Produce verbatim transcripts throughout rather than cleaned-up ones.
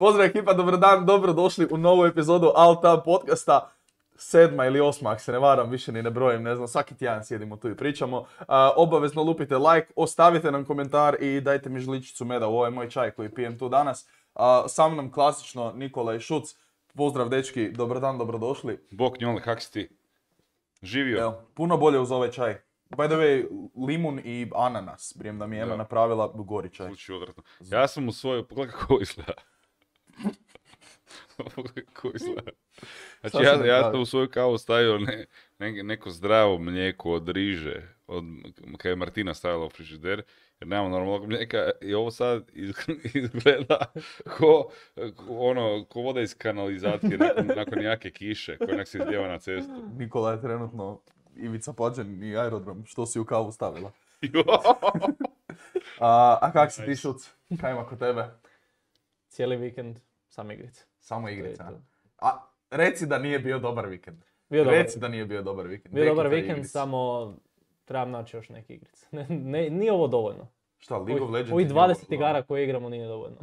Pozdrav ekipa, dobar dan, dobro došli u novu epizodu Alta podcasta. Sedma ili osma, ako se ne varam, više ni ne brojim, ne znam, svaki tjedan sjedimo tu i pričamo. Uh, obavezno lupite like, ostavite nam komentar i dajte mi žličicu meda u ovaj moj čaj koji pijem tu danas. Uh, sa mnom klasično Nikola i Šuc. Pozdrav dečki, dobar dan, dobrodošli. Bok njole, kak si ti? Živio? Evo, puno bolje uz ovaj čaj. By the way, limun i ananas, prijem da mi je Ema napravila gori čaj. Sluči odvratno. Ja sam u svoju, pogledaj kako izgleda. Pogledaj kako izgleda. Znači ja, ja sam u svoju kavu stavio ne, ne, neko zdravo mlijeko od riže, od, kada je Martina stavila u frižider, jer nemamo normalnog mlijeka i ovo sad izgleda ko, ko, ono, ko voda iz kanalizacije nakon, nakon jake kiše, koja nek se izljeva na cestu. Nikola je trenutno Ivica Pađen i aerodrom, što si u kavu stavila. a, a kak si ti, Šuc? Kaj ima kod tebe? Cijeli vikend, samo igrice. Samo igrica. A reci da nije bio dobar vikend. Bio reci dobar. da nije bio dobar vikend. Bio dobar vikend, igrice. Samo trebam naći još neke igrice. Ne, ne, nije ovo dovoljno. Šta, League of Legends? Ovih dvadeset igara koje igramo nije dovoljno.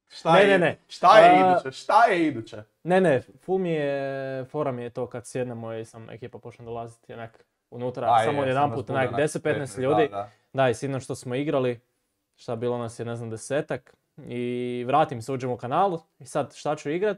Šta ne, je, ne, ne. Šta je A, iduće? Šta je iduće? Ne, ne, ful mi je, fora mi je to kad sjednemo i sam ekipa počne dolaziti onak unutra, A, samo je, jedan put, onak deset do petnaest ljudi. Da, da. da, i sinoć što smo igrali, šta bilo nas je, ne znam, desetak. I vratim se, uđem u kanalu i sad šta ću igrat.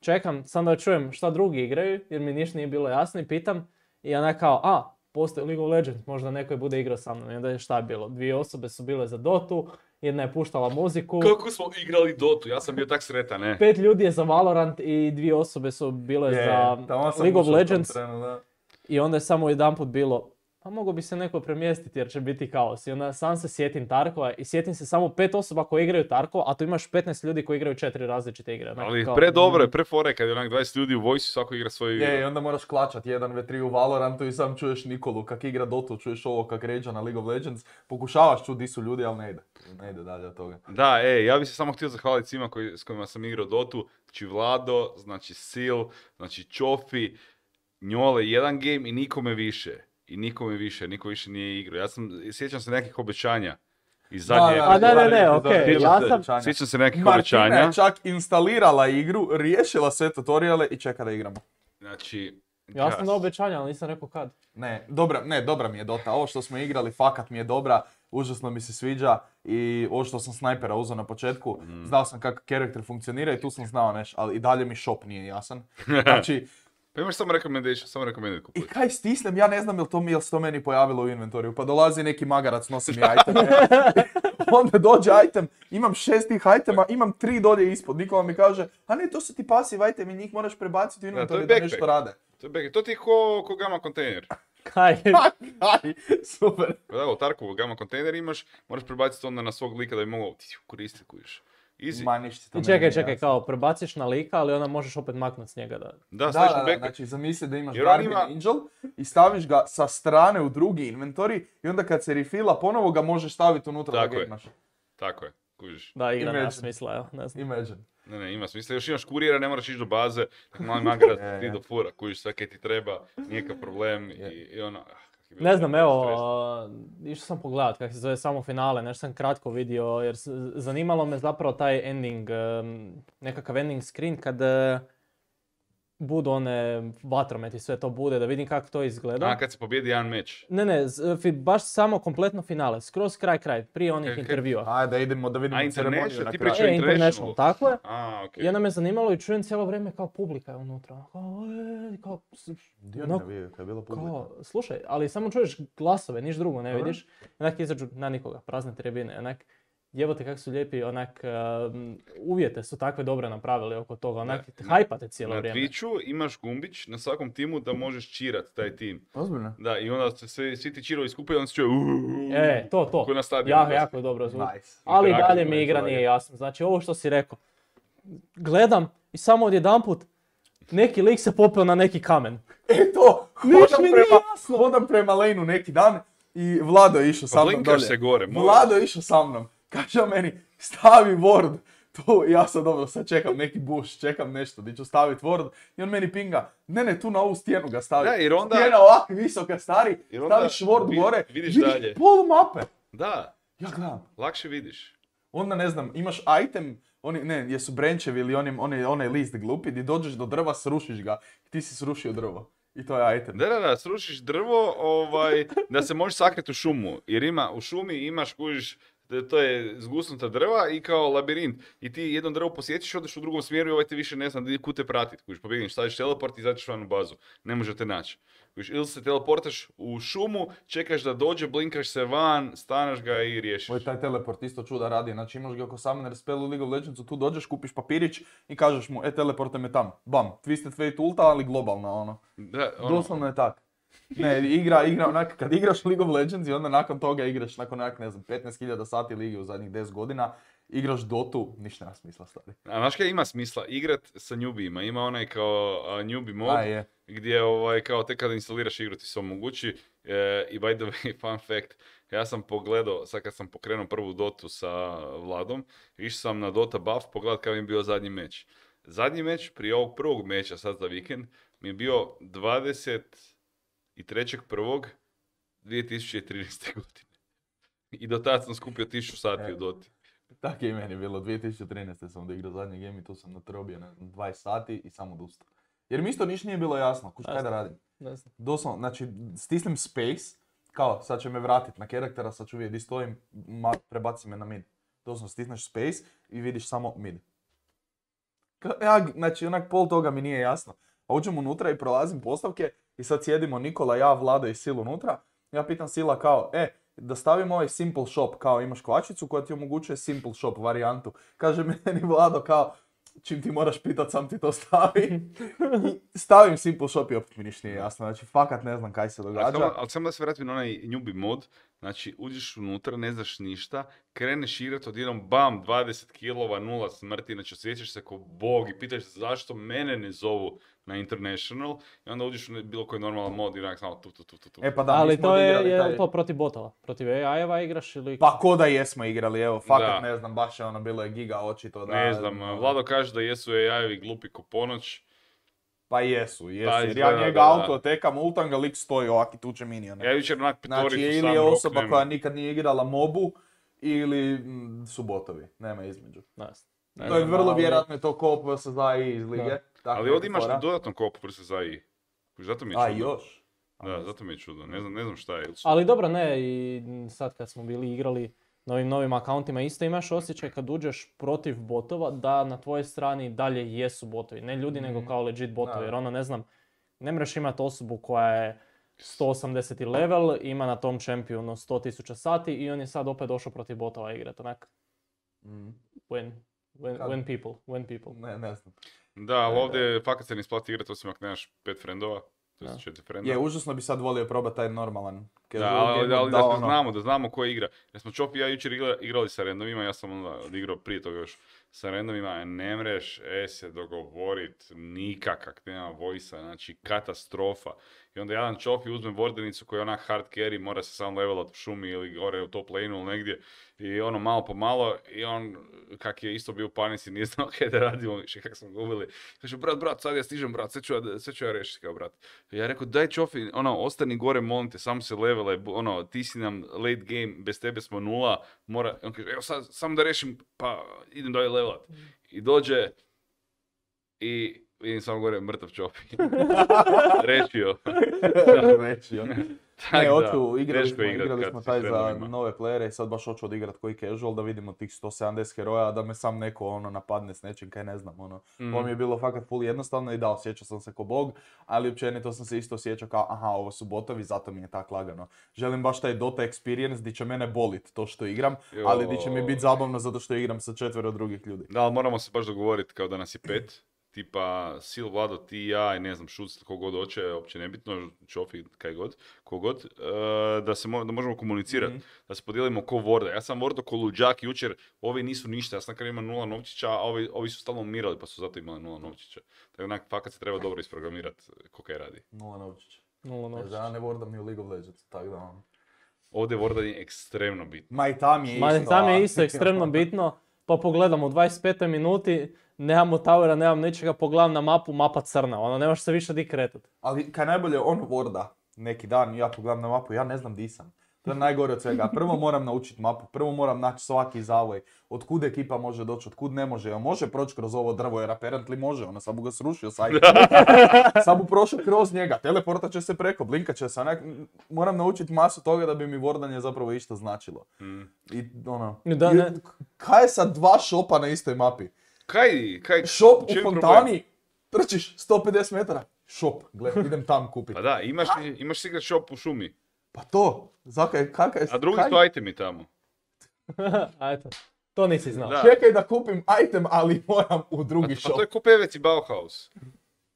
Čekam, sam da čujem šta drugi igraju, jer mi ništa nije bilo jasno i pitam. I ona kao, a, postoji League of Legends, možda neko je bude igrao sa mnom. I onda je šta je bilo? Dvije osobe su bile za Dotu, jedna je puštala muziku. Kako smo igrali Dotu? Ja sam bio tak sretan, ne? Pet ljudi je za Valorant i dvije osobe su bile je, za League of Legends. Trenu, da. I onda je samo jedanput bilo, pa mogo bi se neko premjestiti jer će biti kaos. I onda sam se sjetim Tarkova i sjetim se samo pet osoba koji igraju Tarkova, a tu imaš petnaest ljudi koji igraju četiri različite igre. Onak, ali kao, pre dobro je, pre fore, kad je onak dvadeset ljudi u vojsi, svako igra svoju igru. Je, i onda moraš klačat jedan ve tri u Valorantu i sam čuješ Nikolu kak igra Dotu, čuješ ovo kak ređa na League of Legends. Pokušavaš čuti di su ljudi, ali ne ide. Ne ide dalje od toga. Da, ej, ja bih se samo htio zahvaliti svima koji, s kojima sam igrao Dotu. Znači Vlado, znači Sil, znači Čofi, Njole, jedan game i nikome više. I nikome više, niko više nije igrao. Ja sam, sjećam se nekih obećanja iz zadnje... A ne, ne, ne, okej, ja sam... Sjećam se nekih Martina obećanja. Martina je čak instalirala igru, riješila sve tutoriale i čeka da igramo. Znači... Ja sam dao obećanja, ali nisam rekao kad. Ne, dobra, ne, dobra mi je Dota. Ovo što smo igrali, fakat mi je dobra. Užasno mi se sviđa i ovo što sam snajpera uzeo na početku, mm. znao sam kako karakter funkcionira i tu sam znao nešto, ali i dalje mi shop nije jasan. Znači... Pa imaš samo recommendation, samo recommended kupiti. I kaj stisnem, ja ne znam jel to mi jel se to meni pojavilo u inventoriju, pa dolazi neki magarac, nosi mi iteme. Onda dođe item, imam šest tih itema, imam tri dolje ispod. Nikola mi kaže, a ne, to su ti passive item i njih moraš prebaciti u inventoriju da, da nešto rade. To je backpack. To ti je ko, ko gamma kontejner. Kaj? Kaj, super. Da, u Tarkovu gamma kontejner imaš, moraš prebaciti onda na svog lika da bi mogao koristiti kujiš. Easy. Ma, ništa, I čekaj, čekaj, kao prebaciš na lika, ali onda možeš opet maknuti s njega da... Da, da, staviš da, u backpack. znači zamisli da imaš Jer Guardian ima... Angel i staviš ga sa strane u drugi inventori i onda kad se refila ponovo ga možeš staviti unutra tako da getnaš. Tako je, kužiš. Da, igra nema smisla, evo, ne znam. Imagine. Ne, ne, ima smisla. Još imaš kurijera, ne moraš ići do baze, tako mali magarac ti do fura, kužiš sve kaj ti treba, nijekav problem i, i ono... Ne znam, evo, uh, išao sam pogledat kako se zove samo finale, nešto sam kratko vidio jer zanimalo me zapravo taj ending, um, nekakav ending screen kad uh, budu one vatrometi, sve to bude, da vidim kako to izgleda. A, kad se pobjedi jedan meč? Ne, ne, baš samo kompletno finale, skroz kraj kraj, prije onih okay, intervjua. Ajde, da idemo da vidimo A, ceremoniju na ti kraju. E, International, tako je. A, okay. I onda me zanimalo i čujem cijelo vrijeme kao publika je unutra. Kao, e, kao... Dio ne navijaju, kad je bila publika. Kao, slušaj, ali samo čuješ glasove, niš drugo ne vidiš. Onak izađu na nikoga, prazne tribine, onak... Jebote kako su lijepi, onak, uh, uvjete su takve dobre napravili oko toga, onak, hajpate cijelo na vrijeme. Na Twitchu imaš gumbić na svakom timu da možeš čirat taj tim. Ozbiljno? Da, i onda se svi, svi ti čirovi skupaju i onda se čuje uuuu. E, to, to. Ko na stadionu. Jako, jako je dobro zvuk. Nice. Ali dalje mi igra nije jasno. Znači, ovo što si rekao, gledam i samo odjedanput neki lik se popeo na neki kamen. E to, hodam prema, hodam prema lane-u neki dan i Vlado je išao sa mnom dolje. Se gore, Vlado je išao sa mnom. Kaže meni, stavi ward. Tu, ja sam dobro, sad čekam neki bush, čekam nešto, di ću staviti ward. I on meni pinga, ne ne, tu na ovu stijenu ga stavi. Da, jer onda... Stijena ovako visoka, stari, onda staviš ward vid, gore, vidiš, vidiš dalje. polu mape. Da, Ja gledam. lakše vidiš. Onda ne znam, imaš item oni, ne, jesu brenčevi ili onim, onaj, onaj list glupi, di dođeš do drva, srušiš ga, ti si srušio drvo. I to je item. Da, da, da, srušiš drvo, ovaj, da se možeš sakriti u šumu, jer ima, u šumi imaš, kužiš, to je zgusnuta drva i kao labirint. I ti jedno drvo posjećiš, odeš u drugom smjeru i ovaj te više ne zna kud te pratit. Kužiš, pobjegneš, staviš teleport i izađeš van u bazu. Ne može te naći. Kužiš, ili se teleportaš u šumu, čekaš da dođe, blinkaš se van, stanaš ga i riješiš. Ovo taj teleport isto čuda radi. Znači imaš ga oko Summoner spell u League of Legendsu, tu dođeš, kupiš papirić i kažeš mu, e, teleporte me tam. Bam, Twisted Fate ulta, ali globalna, ono. Da, ono... Doslovno je tak. Ne, igra, igra onak, kad igraš League of Legends i onda nakon toga igraš nakon onak, ne znam, petnaest hiljada sati lige u zadnjih deset godina, igraš Dotu, ništa nema smisla stvari. A znaš kaj ima smisla? Igrat sa newbijima. Ima onaj kao uh, newbie mod, A, je. gdje ovaj, kao tek kada instaliraš igru ti se omogući. E, I by the way, fun fact, ja sam pogledao, sad kad sam pokrenuo prvu Dotu sa Vladom, išao sam na Dota buff pogledat kada mi je bio zadnji meč. Zadnji meč prije ovog prvog meča sad za vikend mi je bio dvadeset trećeg prvog dvije tisuće trinaeste. godine. I do tada sam skupio tisuću sati e, u Doti. Tako je i meni bilo, dvije tisuće trinaeste sam odigrao zadnji game i tu sam natrobio, ne znam, dvadeset sati i samo odustao. Jer mi isto ništa nije bilo jasno, kuš kaj da radim. Doslovno, znači stisnem space, kao sad će me vratit na karaktera, sad ću vidjeti di stojim, ma, prebaci me na mid. Doslovno stisneš space i vidiš samo mid. Ja, znači onak pol toga mi nije jasno. A uđem unutra i prolazim postavke i sad sjedimo Nikola, ja, Vlado i Sil unutra. Ja pitam Sila kao, e, da stavim ovaj simple shop, kao imaš kvačicu koja ti omogućuje simple shop varijantu. Kaže meni Vlado kao, čim ti moraš pitat, sam ti to stavi. I stavim simple shop i opet mi ništa nije jasno. Znači, fakat ne znam kaj se događa. Ali samo, ali samo da se vratim na onaj newbie mod, znači uđeš unutra, ne znaš ništa, kreneš igrat, odjednom bam, dvadeset kilova, nula smrti, znači osjećaš se kao bog i pitaš se zašto mene ne zovu na International i onda uđeš u bilo koji normalan mod i onak samo tu, tu, tu, tu, tu. E pa da, ali to je, je taj... to protiv botova? Protiv A I-eva igraš ili... Pa ko da jesmo igrali, evo, fakat da. Ne znam, baš je ono bilo je giga očito da... Ne znam, Vlado kaže da jesu A I-evi glupi ko ponoć. Pa jesu, jesu, Pa jer izgleda, ja njega da, auto tekam, ultam ga, lik stoji ovak i tuče minione. Ja jučer onak pitoricu Znači, ili sam je osoba roknem. koja nikad nije igrala mobu, ili m, su botovi, nema između. Nice. To je vrlo vjerojatno je to co-op versus A I iz lige. Ali ovdje imaš dodatno co-op versus A I. Zato mi je čudo. A, još? Da, zato mi je čudo. Ne znam, ne znam šta je. Ali dobro, ne, i sad kad smo bili igrali na ovim novim akauntima, isto imaš osjećaj kad uđeš protiv botova da na tvojoj strani dalje jesu botovi. Ne ljudi, mm. nego kao legit botovi. Da. Jer ono, ne znam, ne mreš imati osobu koja je sto osamdeseti level, ima na tom čempionu sto tisuća sati i on je sad opet došao protiv botova igrat, onak. Mm. When, when, when people, when people. Ne, ne znam. Da, ali ovdje fakat se ne isplati igrati osim ako nemaš pet frendova. To je četiri frenda. Je, užasno bi sad volio probati taj normalan. Da, ali, ali, ali da, da ono... znamo, da znamo ko igra. Jer smo Čop i ja jučer igrali sa randomima, ja sam onda odigrao prije toga još sa randomima, ne mreš e, se dogovorit nikakak, nema vojsa, znači katastrofa. I onda jedan Čopi uzme Vordenicu koji je onak hard carry, mora se sam levelat u šumi ili gore u top lane ili negdje. I ono malo po malo, i on kak je isto bio u panici, nije znao kaj da radimo, više kak smo gubili. Kaže, brat, brat, sad ja stižem, brat, sve ću ja, sve ću ja rešiti kao brat. I ja rekao, daj Čofi, ono, ostani gore, molim te, samo se levele, ono, ti si nam late game, bez tebe smo nula, mora, on kaže, evo sad, samo da rešim, pa idem dalje levelat. I dođe i vidim samo gore mrtav Čopi. Rešio. Rešio. Ne, hoću, igrali smo, igrali smo taj za nove playere i sad baš hoću odigrat koji casual da vidimo tih sto sedamdeset heroja, da me sam neko ono napadne s nečim kaj ne znam, ono. Mm. Ovo mi je bilo fakat full jednostavno i da, osjećao sam se ko bog, ali općenito sam se isto osjećao kao aha, ovo su botovi, zato mi je tak lagano. Želim baš taj Dota experience di će mene bolit to što igram, jo. Ali di će mi biti zabavno zato što igram sa četvero drugih ljudi. Da, ali moramo se baš dogovoriti kao da nas je pet. Tipa Sil, Vlado, ti i ja i ne znam, Šuc, kogod hoće, uopće nebitno, Čofi, kaj god, kogod, uh, da se mo- da možemo komunicirati, mm-hmm. da se podijelimo ko Vorda. Ja sam Vordo ko luđak jučer, ovi nisu ništa, ja sam kad imam nula novčića, a ovi, ovi su stalno umirali pa su zato imali nula novčića. Tako onak, fakat se treba dobro isprogramirati ko kaj radi. Nula novčića. Nula novčića. Ja ne Vordam ni u League of Legends, tako da ono. Ovdje Vorda je ekstremno bitno. Ma i tam je isto. Ma i tam je isto ekstremno bitno, pa pogledam u dvadeset petoj minuti, nemam towera, nemam ničega, pogledam na mapu, mapa crna, ono, nemaš se više di kretat. Ali kaj najbolje, on Vorda, neki dan, ja pogledam na mapu, ja ne znam di sam. To je najgore od svega. Prvo moram naučiti mapu, prvo moram naći svaki zavoj. Od kud ekipa može doći, od kud ne može. Jel može proći kroz ovo drvo, jer apparently može. Ono, sam mu ga srušio sajt. Sam mu prošao kroz njega. Teleportat će se preko, blinkat će se. Onak, moram naučiti masu toga da bi mi wordanje zapravo išta značilo. Mm. I ono... Da, ne. Kaj je sad dva šopa na istoj mapi? Kaj, kaj, šop u fontani, trčiš sto pedeset metara. Šop, gledaj, idem tam kupiti. Pa da, imaš, imaš sigrat šop u šumi. Pa to, zakaj, kakaj... A drugi su itemi tamo. A eto, to nisi znao. Da. Čekaj da kupim item, ali moram u drugi pa, shop. Pa to je ko Pevec i Bauhaus.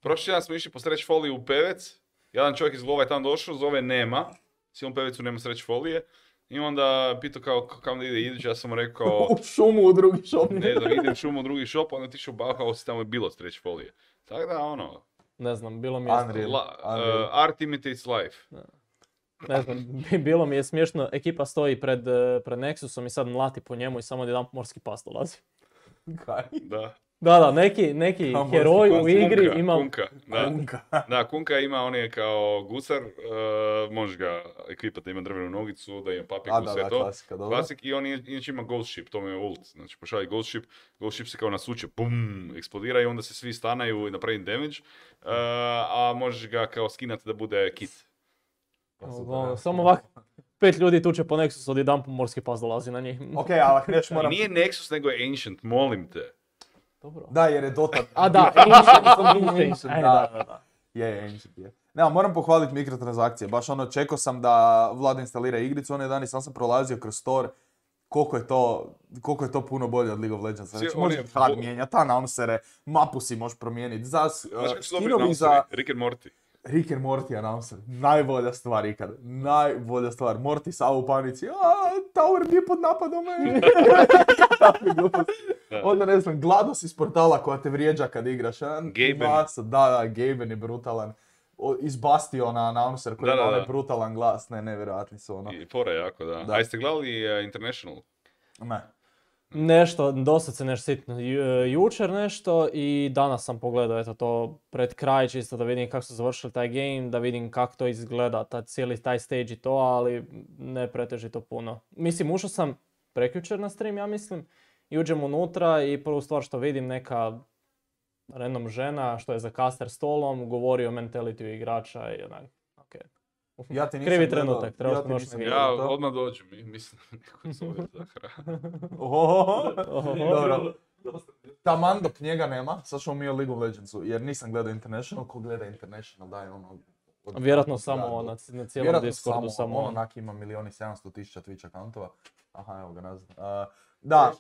Prošli dan smo išli po sreć foliju u Pevec. Jedan čovjek iz Lova je tamo došao, zove nema. Silom Pevecu nema sreć folije. I onda pitao kao kako da ide idući, ja sam mu rekao... u šumu u drugi shop. Ne znam, idem u šumu u drugi shop, onda ti išao u Bauhaus i tamo je bilo sreć folije. Tako da, ono... Ne znam, bilo mi je... Unreal. La, uh, art imitates life. Ne znam, bilo mi je smiješno, ekipa stoji pred, pred Nexusom i sad mlati po njemu i samo jedan morski pas dolazi. Kaj? Da. Da, da, neki, neki Kam heroj Kunka, u igri Kunka, ima... Kunka, da. Kunka. Da, Kunka ima, on je kao gusar, uh, možeš ga ekvipati da ima drvenu nogicu, da ima papiku, A, da, sve da, to. klasika, dobro. Klasik i on je, inače ima Ghost Ship, to mu je ult. Znači pošalji Ghost Ship, Ghost Ship se kao nasuče, bum, eksplodira i onda se svi stanaju i napravi damage. Uh, a možeš ga kao skinati da bude kit. Ono, samo ovako, pet ljudi tuče po Nexusu, odjedan po morski pas dolazi na njih. Ok, ali ako neš moram... Nije Nexus, nego je Ancient, molim te. Dobro. Da, jer je Dota... A da, Ancient, Ancient, Aj, da, da, da. Je, je, Ancient je. Ne, moram pohvaliti mikrotransakcije. Baš ono, čekao sam da Vlada instalira igricu, onaj dan i sam sam prolazio kroz store. Koliko je to, koliko je to puno bolje od League of Legends. Znači, možeš H U D mijenjati, announceere, mapu si možeš promijeniti. Za uh, skinovi za... Rick and Morty. Rick and Morty announcer. Najbolja stvar ikad. Najbolja stvar. Morty sav u panici. Aaa, Tower nije pod napadom. Onda ne znam, GLaDOS iz portala koja te vrijeđa kad igraš. Gaben. Da, da, Gaben je brutalan. O, iz Bastiona announcer koji da, ima da, onaj da. brutalan glas. Ne, nevjerojatni su ono. I fora jako, da. Da. A jeste gledali uh, International? Ne. Nešto, dosta se nešto sitno. Ju, jučer nešto i danas sam pogledao eto to pred kraj čisto da vidim kako su završili taj game, da vidim kako to izgleda, taj, cijeli taj stage i to, ali ne pretežito puno. Mislim, ušao sam prekjučer na stream, ja mislim, i uđem unutra i prvu stvar što vidim neka random žena što je za caster stolom, govori o mentalityu igrača i onak, okej. Okay. Ja ti nisam Krivi gledao, trenutak, treba ja sam ti još nisam na gledao Ja to. odmah dođu mi, mislim neko zove za hranu. Ohoho. Ohoho. Dobro. Taman dok njega nema, sad ćemo mi o League of Legendsu, jer nisam gledao International, ko gleda International daj ono... Od... Vjerojatno da, samo do- na, na cijelom Vjerojatno Discordu, samo, samo on on. onak ima milion i sedamsto tisuća Twitch akauntova. Aha, evo ga nazad. Uh, da,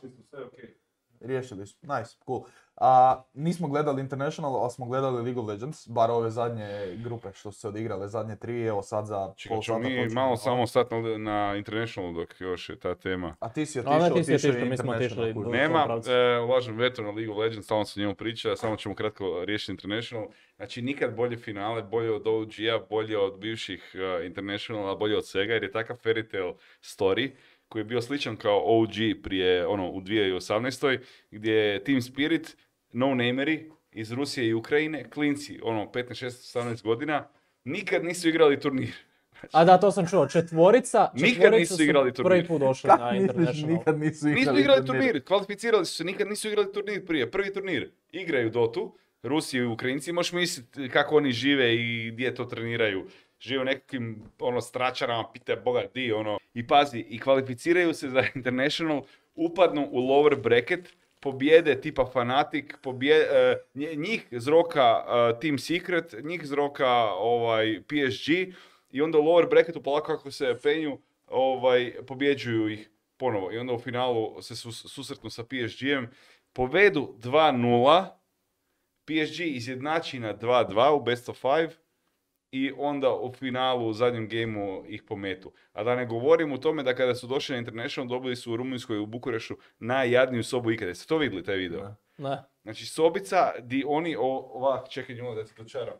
riješili su, nice, cool. A, nismo gledali International, ali smo gledali League of Legends, bar ove zadnje grupe što su se odigrale, zadnje tri, evo sad za Čekaj, pol ćemo sata mi počinje. malo samo stati na, na International dok još je ta tema. A ti si A otišao, ne, ti si otišao otišao, je mi smo International. otišli kužiš. do- Nema, pravcu. e, ulažem veto na League of Legends, stalno se o njemu priča, samo ćemo kratko riješiti International. Znači nikad bolje finale, bolje od O G-a, bolje od bivših uh, Internationala, bolje od svega, jer je takav fairy tale story koji je bio sličan kao O G prije, ono, u dvije tisuće osamnaestoj gdje je Team Spirit, no-nameri iz Rusije i Ukrajine, klinci, ono, petnaest, šesnaest, osamnaest godina, nikad nisu igrali turnir. A da, to sam čuo, četvorica, Nikad četvorica nisu su igrali turnir. prvi put došli Kak na misliš, International. nikad nisu igrali, Nisu igrali turnir, kvalificirali su se, nikad nisu igrali turnir prije. Prvi turnir, igraju Dotu, Rusi i Ukrajinci, možeš misliti kako oni žive i gdje to treniraju. Žive u nekakvim ono, stračarama, pita Boga di, ono. I pazi, i kvalificiraju se za International, upadnu u lower bracket, pobjede tipa Fnatic, pobje, uh, njih zroka uh, Team Secret, njih zroka ovaj, P S G i onda u lower bracketu polako kako se penju, ovaj, pobjeđuju ih ponovo. I onda u finalu se sus, susretnu sa P S G-em, povedu dva nula, P S G izjednači na dva dva u best of five i onda u finalu, u zadnjem gejmu ih pometu. A da ne govorim o tome da kada su došli na International dobili su u Rumunjskoj u Bukurešu najjadniju sobu ikada. Jeste to vidjeli taj video? Ne. Ne. Znači sobica di oni o, ovak, čekaj nju da ti dočaram.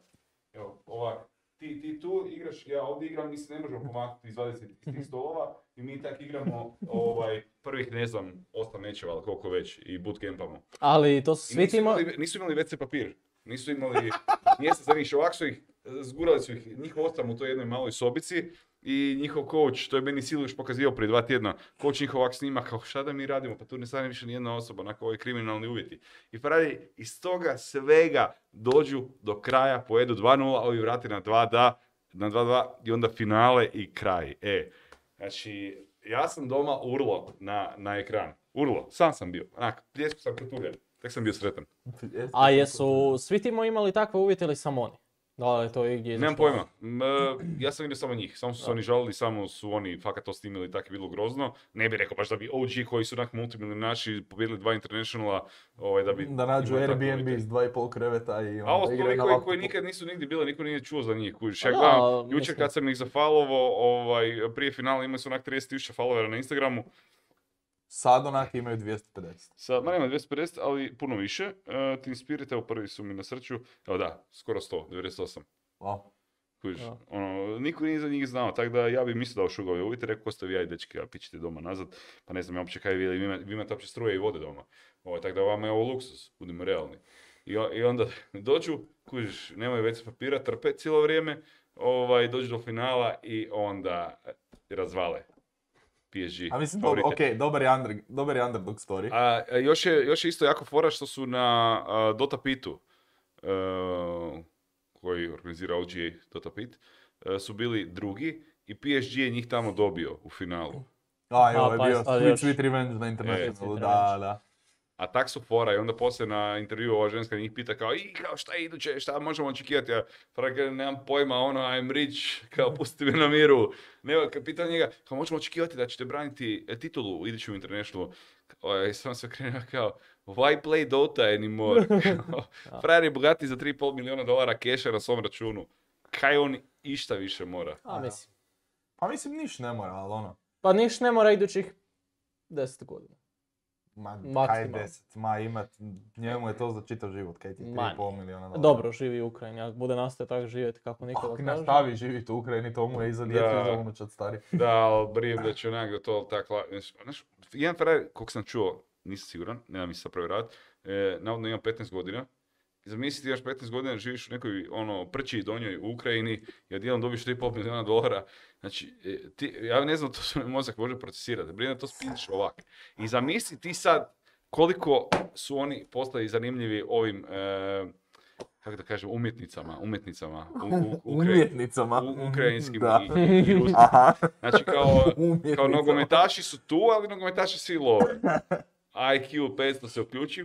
Evo, ovak. Ti, ti tu igraš, ja ovdje igram, mi se ne možemo pomaknuti iz dvadeset iz tih stolova i mi tak igramo ovaj, prvih, ne znam, osam mečeva, ali koliko već, i bootcampamo. Ali to su I svi nisu timo... imali, nisu imali ve ce papir, nisu imali mjesta za njih, ovak su ih, zgurali su ih, njih osam u toj jednoj maloj sobici i njihov coach, to je meni Siluš pokazivao prije dva tjedna, coach njihov ovak snima kao šta da mi radimo, pa tu ne stane više nijedna osoba, onako ovi kriminalni uvjeti. I pravi, iz toga svega dođu do kraja, pojedu dva nula, ovi vrati na dva dva, na dva dva i onda finale i kraj. E, znači, ja sam doma urlo na, na ekran. Urlo, sam sam bio. Onak, pljesku sam katuljen. Tek sam bio sretan. A jesu svi timo imali takve uvjete ili samo oni? Da li je to igdje Nemam pojma. M, ja sam vidio samo njih. Samo su se oni žalili, samo su oni fakat to snimili, tako je bilo grozno. Ne bih rekao baš da bi O G koji su onak multimilionaši pobjedili dva internationala, ovaj, da bi... Da nađu Airbnb s dva i pol kreveta i A ovo onda su igraju ovi na koji, laptopu. koji nikad nisu nigdje bili, niko nije čuo za njih. Kužiš. Ja Da, gledam, jučer mislim. kad sam ih zafalovo, ovaj, prije finala imali su onak trideset tisuća followera na Instagramu. Sad onak imaju dvjesto pedeset. Sad, ma nema dvjesto pedeset, ali puno više. Uh, Team Spirit, evo prvi su mi na srću. Evo da, skoro sto, devedeset osam. Wow. Kužiš, Da. ono, niko nije za njih znao, tako da ja bi mislio da ošugao je uvijete, rekao ko ste vi, aj dečki, a pićete doma nazad, pa ne znam ja uopće kaj vi, vi, ima- vi imate uopće struje i vode doma. Ovo, tako da vama je ovo luksus, budimo realni. I, o- i onda dođu, kužiš, nemaju ve ce papira, trpe cijelo vrijeme, ovaj, dođu do finala i onda razvale P S G. A mislim, favorite. ok, dobar je, under, dobar je underdog story. A, a još, je, još je isto jako fora što su na a, Dota Pitu, uh, koji organizira O G A Dota Pit, uh, su bili drugi i P S G je njih tamo dobio u finalu. A, jo, A, je pa bio je sad Sweet još- Sweet Revenge na Internationalu, Sweet da, Revenge. da. A tak su fora i onda poslije na intervju ova ženska njih pita kao i kao šta je iduće, šta možemo očekivati, ja Frank, nemam pojma, ono I'm rich, kao pusti me na miru. Ne, kad pita njega, kao možemo očekivati da ćete braniti e, titulu u idućem internationalu. Oj, sam se okrenuo kao, why play Dota anymore? Frajer je bogati za tri i pol milijuna dolara keša na svom računu. Kaj on išta više mora? A, mislim. Pa mislim, niš ne mora, ali ono. Pa niš ne mora idućih deset godina. Ma, kaj Maksimalno. deset, ma imat, njemu je to za čitav život, kaj ti tri Ma i pol milijuna dolara. Dobro, živi u Ukrajini, ako bude nastavio tako živjeti kako nikoga Ako kaže. nastavi živjeti u Ukrajini, to mu je i za djecu Da. i za unučad stari. Da, ali brijem da će onak da to tako... Znaš, jedan frajer, koliko sam čuo, nisam siguran, nemam mi sad provjeravati, e, navodno ima petnaest godina. I zamisli ti još petnaest godina živiš u nekoj ono, prči donjoj u Ukrajini i odjednom dobiš tri i pol milijuna dolara. Znači, e, ti, ja ne znam, to se mi mozak može procesirati. Brijem da to spiniš ovak. I zamisli ti sad koliko su oni postali zanimljivi ovim... E, kako da kažem, umjetnicama, umjetnicama, u, u, u, ukra- Umjetnicama. u, ukrajinskim Da. i, i, i ruskim. Aha. Znači kao, Umjetnicama. kao nogometaši su tu, ali nogometaši svi love. I Q petsto se uključi,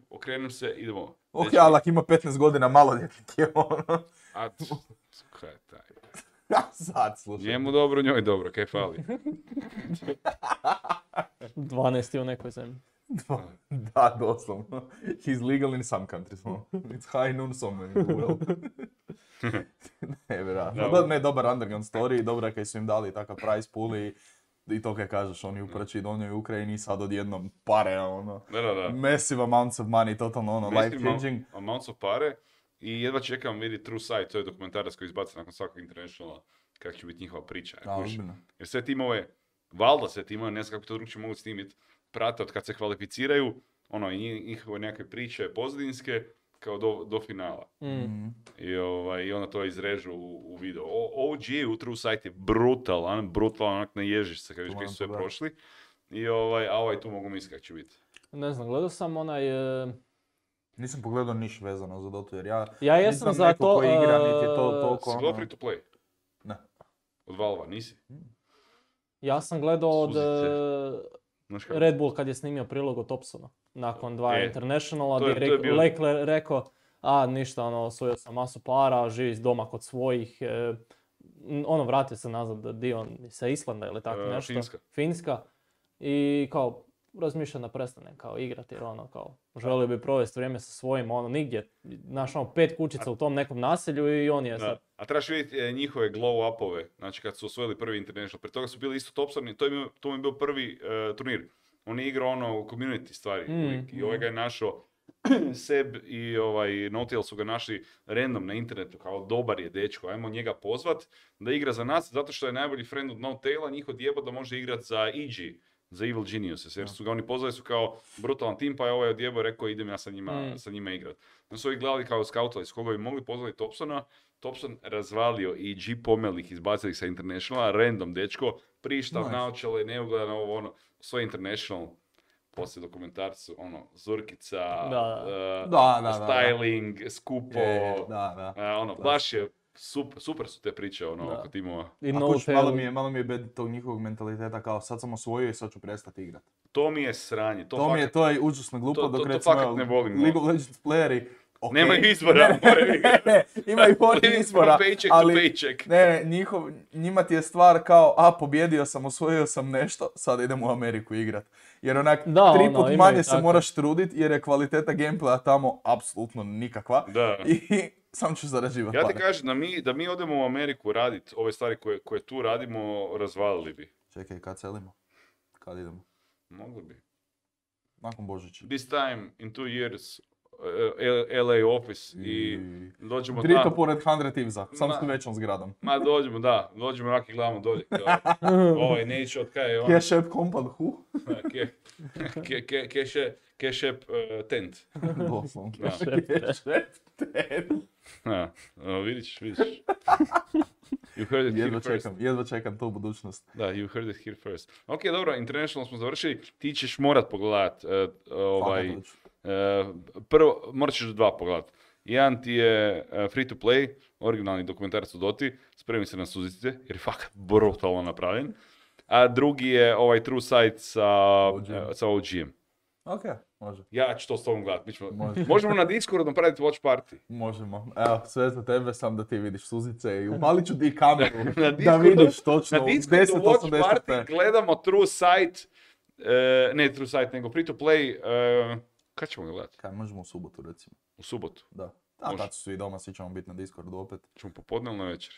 okrenem se, idemo. Ok, Dečki, ali ako ima petnaest godina, maloljetnik je ono. A, t- kaj je taj? Sad, slušaj. Njemu dobro, njoj dobro, kaj fali. dvanaest u nekoj zemlji. Da, doslovno. He's legal in some countries. no. It's high noon somewhere in the world. Ne, vjerojatno. Da, Da, ne, dobar underground story, dobro je kaj su im dali takav prize pool i, i to kaj kažeš, oni u prči donjoj Ukrajini sad odjednom pare, ono. Da, da, da. Massive amounts of money, totalno ono, life Massive changing. amount- amounts of pare i jedva čekam vidjeti True Sight, to je dokumentarac koji izbaca nakon svakog internationala, kako će biti njihova priča. Da, kužiš. ozbiljno. Jer sve timove, valjda sve timove, ne znam kako to drugčije mogu snimiti, prate od kad se kvalificiraju, ono, i njih- njihove nekakve priče pozadinske, kao do, do finala. Mm. I, ovaj, i onda to izrežu u, u video. O, O G u True Sight je brutalan, brutalan, onak naježiš se kad vidiš To koji moram su sve pogledat. prošli. I ovaj, a ovaj tu mogu misliti kako će biti. Ne znam, gledao sam onaj... e, Nisam pogledao niš vezano za Dotu, jer ja Ja jesam nisam za neko to... ko igra, niti je to e, toliko Si gledao ono... free to play? Ne. Od Valva, nisi? Ja sam gledao od Suzice. e, Znaš kako? Red Bull kad je snimio prilog o Thompsonu. Nakon dva E, internationala to je- gdje to je rek- bio- Leclerc rekao a ništa, ono, osvojio sam masu para, živi doma kod svojih, e, n- ono, vratio se nazad dio sa Islanda ili tako E, nešto. Finska. Finska. I kao, razmišljam da prestane kao igrati jer ono kao, želio bi provesti vrijeme sa svojim, ono, nigdje, znaš, ono, pet kućica u tom nekom naselju i on je Da. sad. A trebaš vidjeti e, njihove glow upove, znači kad su osvojili prvi international. Prije toga su bili isto Thompsoni, to, im je- to mi je bio prvi e, turnir. On je igrao ono u community stvari Mm, uvijek. I ovaj ga je našao, Seb i ovaj Notiel su ga našli random na internetu, kao dobar je dečko, ajmo njega pozvat da igra za nas, zato što je najbolji friend od Notaila, njih odjeba da može igrat za E G, za Evil Geniuses, jer su ga oni pozvali su kao brutalan tim, pa je ovaj odjebo rekao idem ja sa njima, mm. sa njima igrat. Onda su ovi gledali kao skautali s koga bi mogli pozvali Thompsona, Thompson razvalio i G pomeli ih, izbacili ih sa Internationala, random dečko, prištav, nice. Naočale, neugledan ovo ono, svoj International, poslije dokumentarcu, ono, Zurkica, da. Uh, Da, da, styling, da, da. skupo, je, da, da. Uh, ono, baš je, super, super su te priče, ono, da. oko timova. I A no kuć, malo mi je, malo mi je bed tog njihovog mentaliteta kao sad sam osvojio i sad ću prestati igrati. To mi je sranje. To, to fakat, mi je, to je užasno glupo, to, to, dok to, recimo to ne volim, League of Legends playeri, okay. Nemaju izbora, moraju igrati. Ne, imaju oni izbora, paycheck ali to paycheck. ne, ne, njihov, njima ti je stvar kao, a pobjedio sam, osvojio sam nešto, sad idem u Ameriku igrat. Jer onak, da, tri ono, put imaju manje se tako. moraš trudit jer je kvaliteta gameplaya tamo apsolutno nikakva. Da. I sam ću zarađivati Ja ti pare. kažem da mi, da mi odemo u Ameriku radit ove stvari koje, koje tu radimo, razvalili bi. Čekaj, kad selimo? Kad idemo? Mogli bi. Nakon Božića. This time, in two years, uh, L A office i dođemo Drito tamo. pored Hundred Thieves-a, sam Ma- s većom zgradom. Ma dođemo, da, dođemo onak i gledamo dolje. Kao, ovaj neće od kaj je on. Cash App Compound, hu? Ke, ke, ke, keše, kešep uh, tent. Doslovno. Da. Cash App Tent. Da, uh, vidiš, vidiš. You heard it Jedva here first. čekam, jedva čekam tu budućnost. Da, you heard it here first. Ok, dobro, International smo završili. Ti ćeš morat pogledat. Uh, ovaj, Fakat hoću. uh, prvo, morat ćeš dva pogledat. Jedan ti je uh, free to play, originalni dokumentarac o Doti. Spremi se na suzice, jer je fakat brutalno napravljen. A drugi je ovaj True Sight sa, O G. uh, sa O G-em. Ok, može. Ja ću to s tobom gledat. Mi ćemo, Može. možemo na Discordu napraviti watch party. Možemo. Evo, sve za tebe, sam da ti vidiš suzice i upalit ću ti kameru Na da Discordu- vidiš točno Na u Discordu deset watch osamdeset party p. gledamo True Sight, uh, ne True Sight, nego free to play. Uh, kad ćemo ga gledati? Kaj, možemo u subotu recimo. U subotu. Da. A Može. tad su svi doma, svi ćemo biti na Discordu opet. Ćemo popodne ili na večer?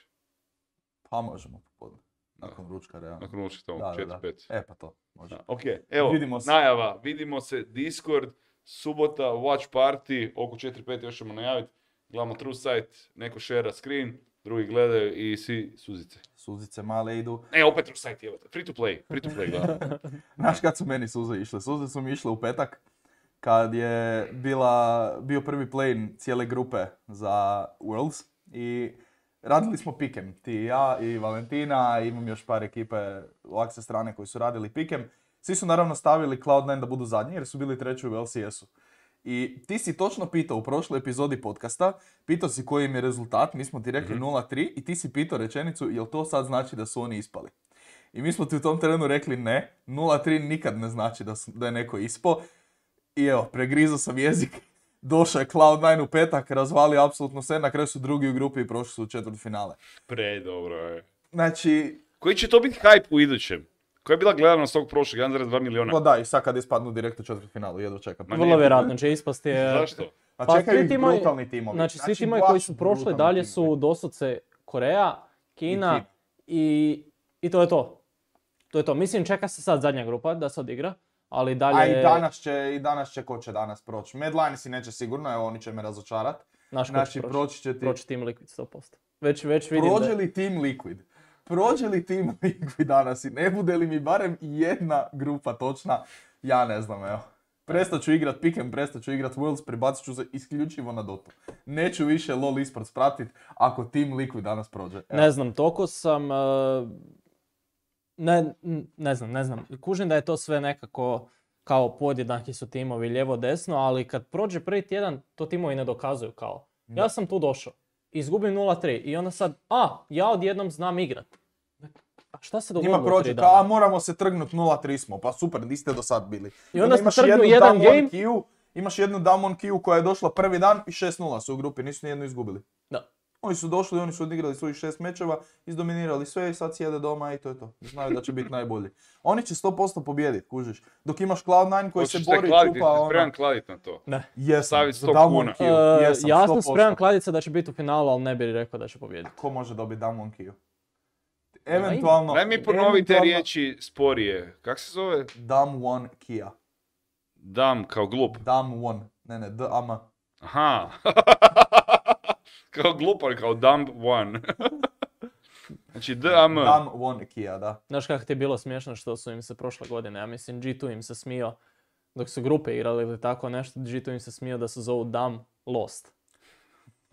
Pa možemo popodne. Nakon ručka, realno. Nakon ulička Da, tamo, da, četiri da. pet. E pa to, može. Ok, evo, Vidimo se. najava, vidimo se, Discord, subota, watch party, oko četiri pet još ćemo najaviti. Gledamo True Sight, neko share screen, drugi gledaju i svi suzice. Suzice male idu. E, opet True Sight, evo, free to play, free to play, gledam. Znaš kad su meni suze išle? Suze su mi išle u petak, kad je bila, bio prvi play cijele grupe za Worlds i radili smo pikem. Ti i ja i Valentina, imam još par ekipe lakse strane koji su radili pikem. Svi su naravno stavili Cloud nine da budu zadnji jer su bili treći u L C S-u. I ti si točno pitao u prošloj epizodi podcasta, pitao si koji im je rezultat, mi smo ti rekli nula tri i ti si pitao rečenicu jel to sad znači da su oni ispali. I mi smo ti u tom terenu rekli ne, nula tri nikad ne znači da, su, da je neko ispao. I evo, pregrizao sam jezik, došao je Cloud nine u petak, razvalio apsolutno sve, na kraju su drugi u grupi i prošli su u četvrtfinale. Predobro je. Znači, Koji će to biti hype u idućem? Koja je bila gledanost tog prošlog, jedan zarez dva miliona? pa da, i sad kad ispadnu direkt u četvrtfinalu, jedva čekam. Ma Vrlo nije- vjerojatno će ispasti. je- Zašto? Pa, Pa čekaju svi ih timovi- brutalni timovi. Znači, svi timovi baš koji su prošli brutalni dalje timovi. su doslovce Koreja, Kina I Kina. i, i to je to. To je to. Mislim, čeka se sad zadnja grupa da se odigra, ali dalje... A i danas će, i danas će, ko će danas proći? Medline si neće sigurno, evo oni će me razočarat. Naš ko će Znači, proći. proći će ti... Proći Team Liquid sto posto. Već, već vidim Prođe da... li Team Liquid? Prođe li Team Liquid danas i ne bude li mi barem jedna grupa točna? Ja ne znam, evo. Prestat ću igrat Pick'em, prestat ću igrat Worlds, prebacit ću se isključivo na Dotu. Neću više LoL esports pratit ako Team Liquid danas prođe. Evo. Ne znam, toliko sam... uh, Ne, ne znam, ne znam. Kužim da je to sve nekako kao podjednaki su timovi lijevo desno, ali kad prođe prvi tjedan, to timovi ne dokazuju kao. Ja sam tu došao, izgubim nula tri i onda sad, a, ja odjednom znam igrat. A šta se dogodilo? Njima prođe tri kao, dana? a moramo se trgnut nula tri smo, pa super, niste do sad bili. I onda ste imaš trgnu jednu jedan Damwon game. Q, imaš jednu Damwon Q koja je došla prvi dan i šest nula su u grupi, nisu nijednu izgubili. Da. Oni su došli, oni su odigrali svojih šest mečeva, izdominirali sve i sad sjede doma i to je to. Znaju da će biti najbolji. Oni će sto posto pobijediti, kužiš. Dok imaš Cloud nine koji se Hoćeš bori i kladiti, čupa jesi ono... spreman kladit na to? Ne. Jesam, staviti za sto Damwon kuna. Q. Uh, Jesam, ja sto sam posto. spreman kladica da će biti u finalu, ali ne bih rekao da će pobijediti. Ko može dobiti Damwon Q? Eventualno... Daj mi ponovi te eventualno riječi sporije. Kak se zove? Damwon Kia. Dam kao glup. Damwon. Ne, ne, D-A-M. Aha. Kao glupan, kao dumb one. Znači D A M. Dam won Kia, da. Znaš kako ti je bilo smiješno što su im se prošle godine, ja mislim G dva im se smio, dok su grupe igrali ili tako nešto, G dva im se smio da se zovu Dam Lost.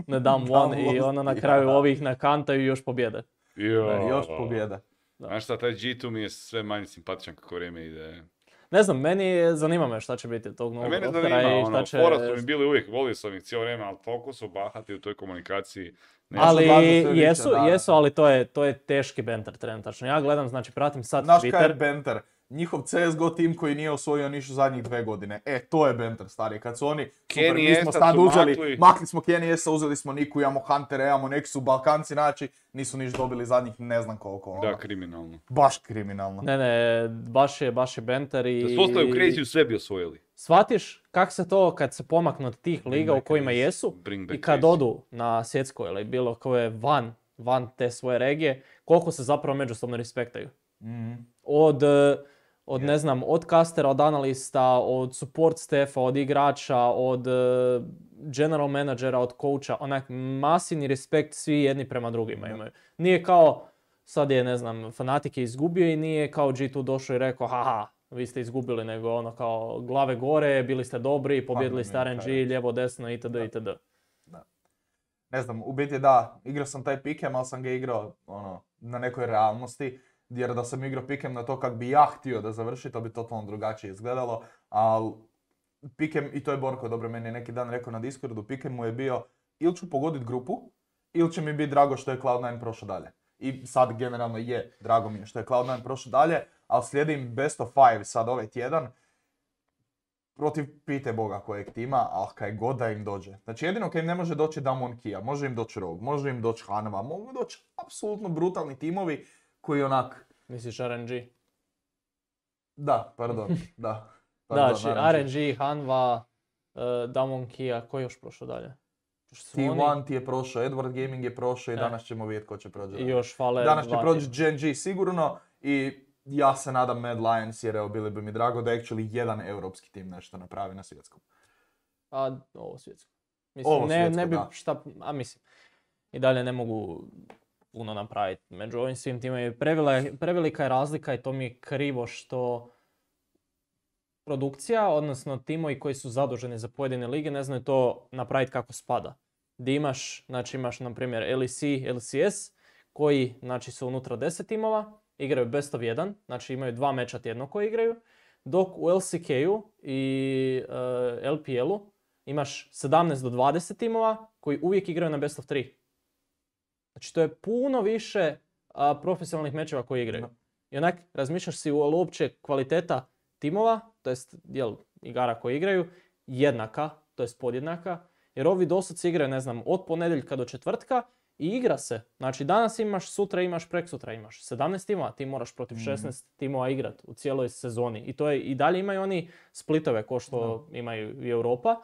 Ne Dam Won i ono na kraju ja. Ovih nakantaju i još pobjede. Jo. Ne, još pobjede. Znaš šta, taj G dva mi je sve manje simpatičan kako vrijeme ide. Ne znam, meni zanima me šta će biti tog novog rostera i šta će... Fora su mi bili uvijek, volio sam ih cijelo vrijeme, ali toliko su bahati u toj komunikaciji. Ne ali jesu, više, jesu, ali to je, to je teški banter trenutačno. Ja gledam, znači pratim sad Znaš Twitter. Znaš kaj je banter? Njihov C S G O tim koji nije osvojio ništa zadnjih dve godine. E, to je banter, stari. Kad su oni, super, mi smo sad uzeli, makli. makli smo Kenny S-a, uzeli smo Niku, imamo Huntera, imamo Nexu, Balkanci, znači, nisu niš dobili zadnjih ne znam koliko. Ono. Da, kriminalno. Baš kriminalno. Ne, ne, baš je, baš je banter i... Da su ostali u Crazy sve bi osvojili. Shvatiš kak se to, kad se pomaknu od tih liga u kojima jesu i kad crazy. Odu na svjetsko ili bilo koje van, van te svoje regije, koliko se zapravo međusobno respektaju. Mm-hmm. Od... Od, yeah. ne znam, od castera, od analista, od support staffa, od igrača, od uh, general managera, od coacha, onak masivni respekt svi jedni prema drugima imaju. Nije kao, sad je, ne znam, Fnatic je izgubio i nije kao G dva došao i rekao, haha, vi ste izgubili, nego ono kao glave gore, bili ste dobri, pobjedili ste R N G, lijevo, desno, itd. itd. Da. Ne znam, u biti da, igrao sam taj pikem, ali sam ga igrao ono, na nekoj realnosti. Jer da sam igrao pikem na to kak bi ja htio da završi, to bi totalno drugačije izgledalo. Ali pikem, i to je Borko dobro meni neki dan rekao na Discordu, pikem mu je bio ili ću pogoditi grupu, ili će mi biti drago što je Cloud nine prošao dalje. I sad generalno je, drago mi je što je Cloud nine prošao dalje, ali slijedim best of five sad ovaj tjedan. Protiv pite Boga kojeg tima, ali kaj god da im dođe. Znači jedino kaj im ne može doći Damwon Kia, može im doći Rogue, može im doći Hanwha, mogu doći apsolutno brutalni timovi koji onak... Misliš R N G? Da, pardon, da. Pardon, da, znači R N G, Hanwha, uh, Damwon Kia, ko je još prošao dalje? T jedan ti je prošao, Edward Gaming je prošao i e. danas ćemo vidjeti ko će proći. I još fale danas će proći Gen G sigurno i ja se nadam Mad Lions jer evo bili bi mi drago da actually jedan europski tim nešto napravi na svjetskom. A ovo svjetsko. Mislim, ovo ne, svjetsko, ne bi da. Šta, a mislim, i dalje ne mogu puno napraviti. Među ovim svim timima prevelika je razlika i to mi je krivo što produkcija, odnosno timovi koji su zaduženi za pojedine lige ne znaju to napraviti kako spada. Di imaš, znači imaš na primjer L E C, L C S koji znači su unutra deset timova, igraju best of jedan, znači imaju dva meča tjedno koji igraju, dok u L C K-u i uh, L P L-u imaš sedamnaest do dvadeset timova koji uvijek igraju na best of tri. Znači to je puno više a, profesionalnih mečeva koji igraju. I onak razmišljaš si uopće kvaliteta timova, to jest jel, igara koji igraju, jednaka, to jest podjednaka. Jer ovi dosad igraju, ne znam, od ponedjeljka do četvrtka i igra se. Znači danas imaš, sutra imaš, preksutra imaš. sedamnaest timova, ti moraš protiv šesnaest mm-hmm. timova igrat u cijeloj sezoni. I to je, i dalje imaju oni splitove ko što no. imaju i Europa.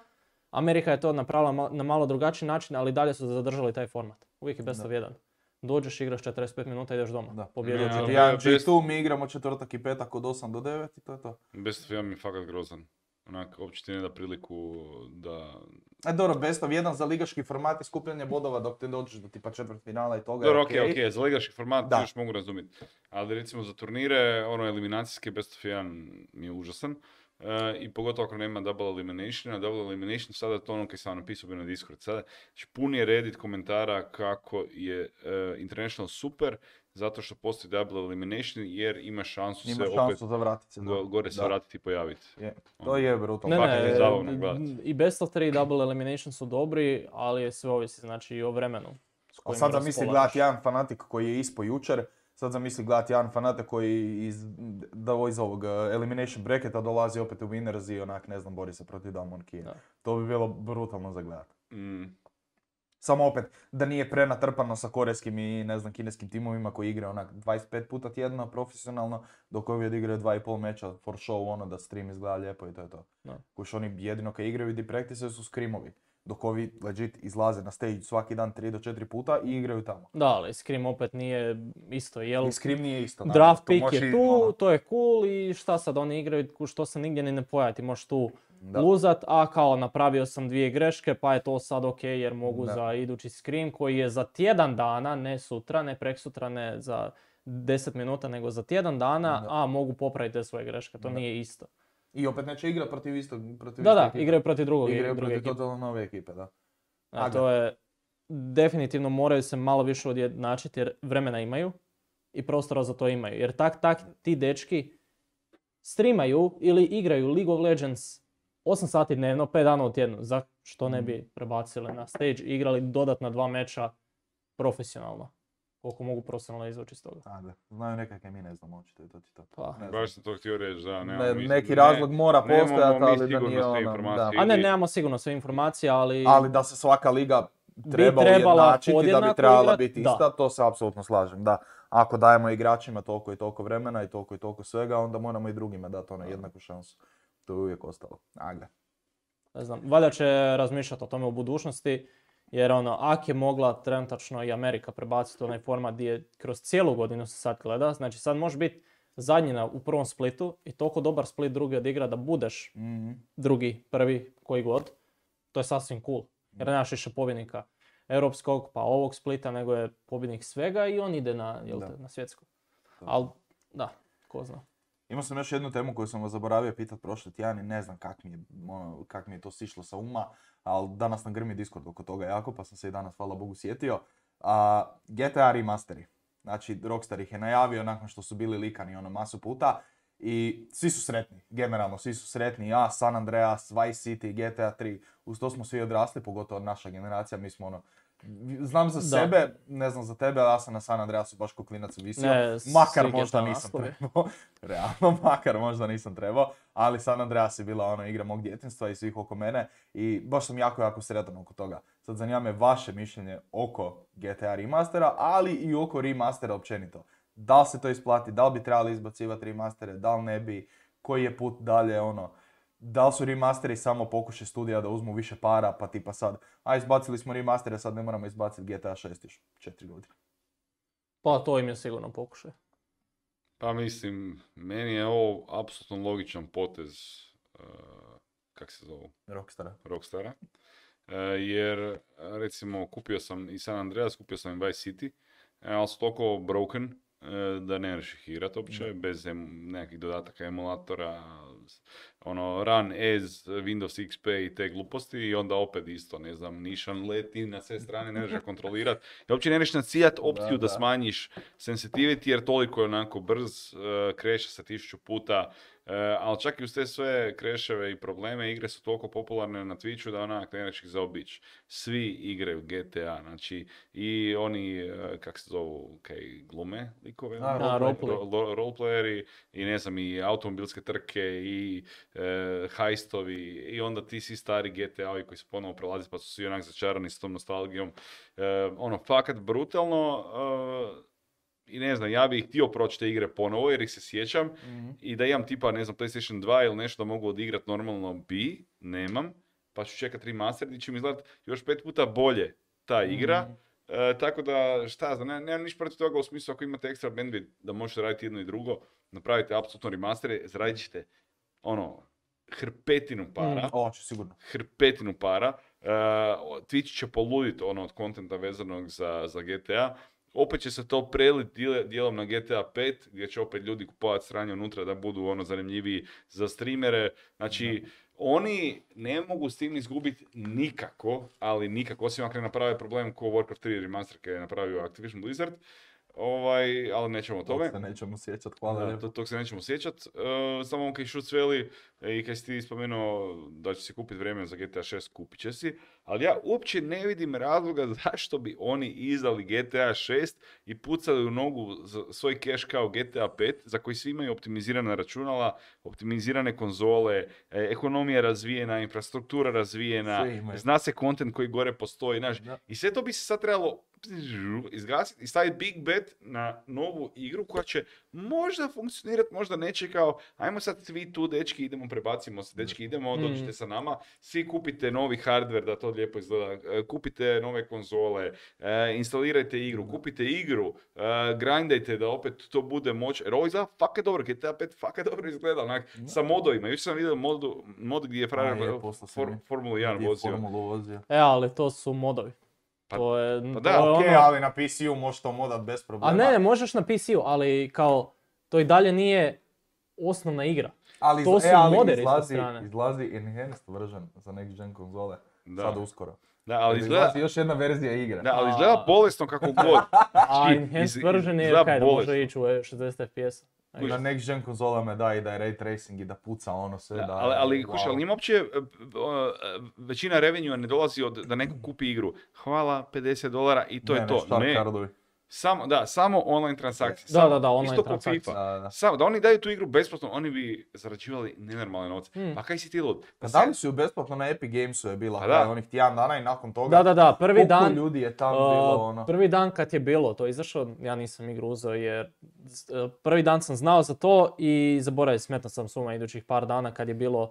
Amerika je to napravila na malo drugačiji način, ali dalje su zadržali taj format. Uvijek je best of jedan. Dođeš, igraš četrdeset pet minuta, ideš doma. Da. Pobjedio ću. Ja, G dva mi igramo četvrtak i petak od osam do devet i to je to. Best of jedan mi je fakat grozan. Onak, uopće ti ne da priliku da... E dobro, best of jedan za ligaški format i skupljanje bodova dok te dođeš do tipa četvrt finala i toga. Dobro, okej, okay, okej, okay. Za ligaški format još mogu razumjeti. Ali recimo za turnire, ono eliminacijske best of jedan mi je užasan. Uh, I pogotovo ako nema double elimination, a double elimination sada to ono kaj sam napisao na Discord. Sada znači, pun je Reddit komentara kako je uh, International super zato što postoji double elimination jer ima šansu ima se šansu opet za vratit se, go, gore se vratiti i pojaviti. Je. To je brutalno. Ne, ne, je i best of tri double elimination su dobri, ali je sve ovisi znači i o vremenu. A sad zamisli gledati jedan fanatik koji je ispo jučer. Sad zamisli gledati jedan Fnatic koji iz, da iz ovog elimination bracketa dolazi opet u winners i onak, ne znam, bori se protiv Damwon Kia. To bi bilo brutalno za gledati. Mm. Samo opet, da nije prenatrpano sa korejskim i ne znam, kineskim timovima koji igraju onak dvadeset pet puta tjedno profesionalno, dok ovi odigraju dva i pol meča for show, ono da stream izgleda lijepo i to je to. Kuš oni jedino kad igraju i practice su skrimovi. Dok ovi legit izlaze na stage svaki dan tri do četiri puta i igraju tamo. Da, ali Scrim opet nije isto, jel? I Scrim nije isto. Draft pick je tu, ono. To je cool i šta sad oni igraju, što se nigdje ni ne pojavi. Ti možeš tu Da. luzat, a kao napravio sam dvije greške, pa je to sad ok jer mogu Da. za idući scrim koji je za tjedan dana, ne sutra, ne preksutra, ne za deset minuta, nego za tjedan dana, Da. a mogu popraviti te svoje greške, to Da. nije isto. I opet neće igrati protiv istog, protiv Da, iste da, ekipe. igraju protiv drugog, Igraju druge protiv ekipe. totalno nove ekipe, da. A Aga. to je, definitivno moraju se malo više odjednačiti jer vremena imaju i prostora za to imaju. Jer tak, tak ti dečki streamaju ili igraju League of Legends osam sati dnevno, pet dana u tjednu. Za što ne bi prebacili na stage i igrali dodatna dva meča profesionalno. Koliko mogu profesionalno izvući iz toga. Ajde, znaju nekakve, mi ne znamo, očito je to ti to. Pa. Ne znam. Baš sam to htio reći, da, nemamo Ne, mi- neki ne- razlog mora nemamo postojati, mi ali da sigurno nije sve ono, informacije. da. A ne, Ili- nemamo sigurno sve informacije, ali... Ali da se svaka liga treba trebala ujednačiti, da bi podjednako trebala igrat, biti da. ista, to se apsolutno slažem, da. Ako dajemo igračima toliko i toliko vremena i toliko i toliko svega, onda moramo i drugima dati ono jednaku šansu. To je uvijek ostalo. Ajde. Ne znam, valjda će razmišljati o tome u budućnosti, jer ono, ak je mogla trenutačno i Amerika prebaciti onaj format gdje je kroz cijelu godinu se sad gleda, znači sad može biti zadnji na, u prvom splitu i toliko dobar split drugi odigra da budeš Mhm. drugi, prvi, koji god, to je sasvim cool. Jer nemaš više pobjednika europskog pa ovog splita, nego je pobjednik svega i on ide na, jel te, Da. na svjetsko. Da. Ali, da, ko zna. Imao sam još jednu temu koju sam vas zaboravio pitati prošli tjedan i ne znam kak mi je, ono, kak mi je to sišlo sa uma, ali danas nam grmi Discord oko toga jako, pa sam se i danas, hvala Bogu, sjetio. A, G T A remasteri. Znači, Rockstar ih je najavio nakon što su bili likani ono masu puta i svi su sretni, generalno svi su sretni. Ja, San Andreas, Vice City, G T A tri, uz to smo svi odrasli, pogotovo naša generacija, mi smo ono, znam za Da. sebe, ne znam za tebe, ali ja sam na San Andreasu baš ko klinac visio. Ne, Makar svi možda G T A nisam naslovi. trebao, realno, makar možda nisam trebao, ali San Andreas je bila ono igra mog djetinjstva i svih oko mene i baš sam jako, jako sretan oko toga. Sad zanima me vaše mišljenje oko G T A remastera, ali i oko remastera općenito. Da li se to isplati, da li bi trebali izbacivati remastere, da li ne bi, koji je put dalje, ono, da li su remasteri samo pokušaj studija da uzmu više para, pa tipa sad, a izbacili smo remastere, sad ne moramo izbaciti G T A šest još četiri godine. Pa to im je sigurno pokušaj. Pa mislim, meni je ovo apsolutno logičan potez, uh, kak se zove, Rockstara. Rockstara. Uh, jer, recimo, kupio sam i San Andreas, kupio sam i Vice City, e, ali su toliko broken uh, da ne možeš ih igrat uopće, Da. bez em, nekakvih dodataka emulatora, ono, run as Windows X P i te gluposti i onda opet isto, ne znam, nišan leti na sve strane, ne možeš ga kontrolirati. I uopće ne možeš nacijat opciju da, Da, da. smanjiš sensitivity jer toliko je onako brz, uh, kreše se tisuću puta, uh, ali čak i uz te sve kreševe i probleme, igre su toliko popularne na Twitchu da onak ne možeš ih zaobići. Svi igraju G T A, znači i oni, uh, kak se zovu, kaj glume likove, A, ono? roleplay. Ro- ro- roleplayeri i ne znam, i automobilske trke i e, hajstovi i onda ti svi stari G T A-ovi koji se ponovo prelazi pa su svi onak začarani s tom nostalgijom. E, ono, fakat brutalno e, i ne znam, ja bih htio proći te igre ponovo jer ih se sjećam Mhm. i da imam tipa, ne znam, PlayStation dva ili nešto da mogu odigrat normalno bi, nemam, pa ću čekat remaster gdje će mi izgledat još pet puta bolje ta igra. Mhm. E, tako da, šta znam, ne, nemam ništa protiv toga u smislu ako imate ekstra bandwidth da možete raditi jedno i drugo, napravite apsolutno remastere, zaradit ćete ono, hrpetinu para, Mm. Ovo će sigurno. hrpetinu para, e, Twitch će poluditi ono od kontenta vezanog za, za G T A, opet će se to preliti dijelom na G T A pet, gdje će opet ljudi kupovati sranje unutra da budu ono zanimljiviji za streamere, znači oni ne mogu s tim izgubiti nikako, ali nikako, osim ako ne naprave problem ko Warcraft tri remaster koji je napravio Activision Blizzard, ovaj, ali nećemo o tome. To se nećemo sjećat, hvala Da, lijepo. to, tog se nećemo sjećat. Uh, samo kaj šut sveli i kaj si ti spomenuo da će si kupiti vrijeme za G T A šest, kupit će si. Ali ja uopće ne vidim razloga zašto bi oni izdali G T A šest i pucali u nogu za svoj cache kao G T A pet, za koji svi imaju optimizirana računala, optimizirane konzole, e, ekonomija razvijena, infrastruktura razvijena, Sve imaju. zna se kontent koji gore postoji. Znaš, Da. i sve to bi se sad trebalo izgasiti i staviti big bet na novu igru koja će možda funkcionirati, možda neće kao, ajmo sad svi tu, dečki, idemo, prebacimo se, dečki, idemo, Mm. dođite sa nama, svi kupite novi hardware da to lijepo izgleda, e, kupite nove konzole, e, instalirajte igru, kupite igru, e, grindajte da opet to bude moć, jer ovo izgleda fakat dobro, G T A pet fakat dobro izgleda, onak, sa modovima, još sam vidio modu, mod gdje je frajer A, je, for, poslao si for, mi. Formulu jedan Gdje je vozio. Formulu vozio. E, ali to su modovi. Pa- to je, pa da, to je Ok, ono- ali na P C-u možeš to modat bez problema. A ne, ne, možeš na P C-u, ali kao, to i dalje nije osnovna igra. ali, to iz- su e, ali moderi sa izlazi, strane. izlazi enhanced version za next gen konzole. Da. Sad uskoro. Da, ali izgleda, Izlazi još jedna verzija igre. da, ali A- izgleda bolesno kako god. A Znači, enhanced iz- version je izgleda kaj, da bolesno. može ići u šezdeset F P S. Na next gen konzolama da i da je ray tracing i da puca ono sve. Da, Da, ali, ali, wow. kuš, ali njima uopće, e, e, većina revenue ne dolazi od da neko kupi igru. Hvala, pedeset dolara i to ne, je to. Ne, Ne, kardovi. samo, da, samo online transakcije. Da, Samo, da, da, online isto ko transakcije. FIFA. Da, da. Samo, da oni daju tu igru besplatno, oni bi zarađivali nenormalne novce. Hmm. Pa kaj si ti lud? Pa dali su ju besplatno na Epic Gamesu je bila, Pa pa da. onih tjedan dana i nakon toga. Da, da, da, prvi koliko dan, ljudi je tamo uh, bilo ono. prvi dan kad je bilo to izašlo, ja nisam igru uzeo jer z- uh, prvi dan sam znao za to i zaboravio, smetno sam suma idućih par dana kad je bilo,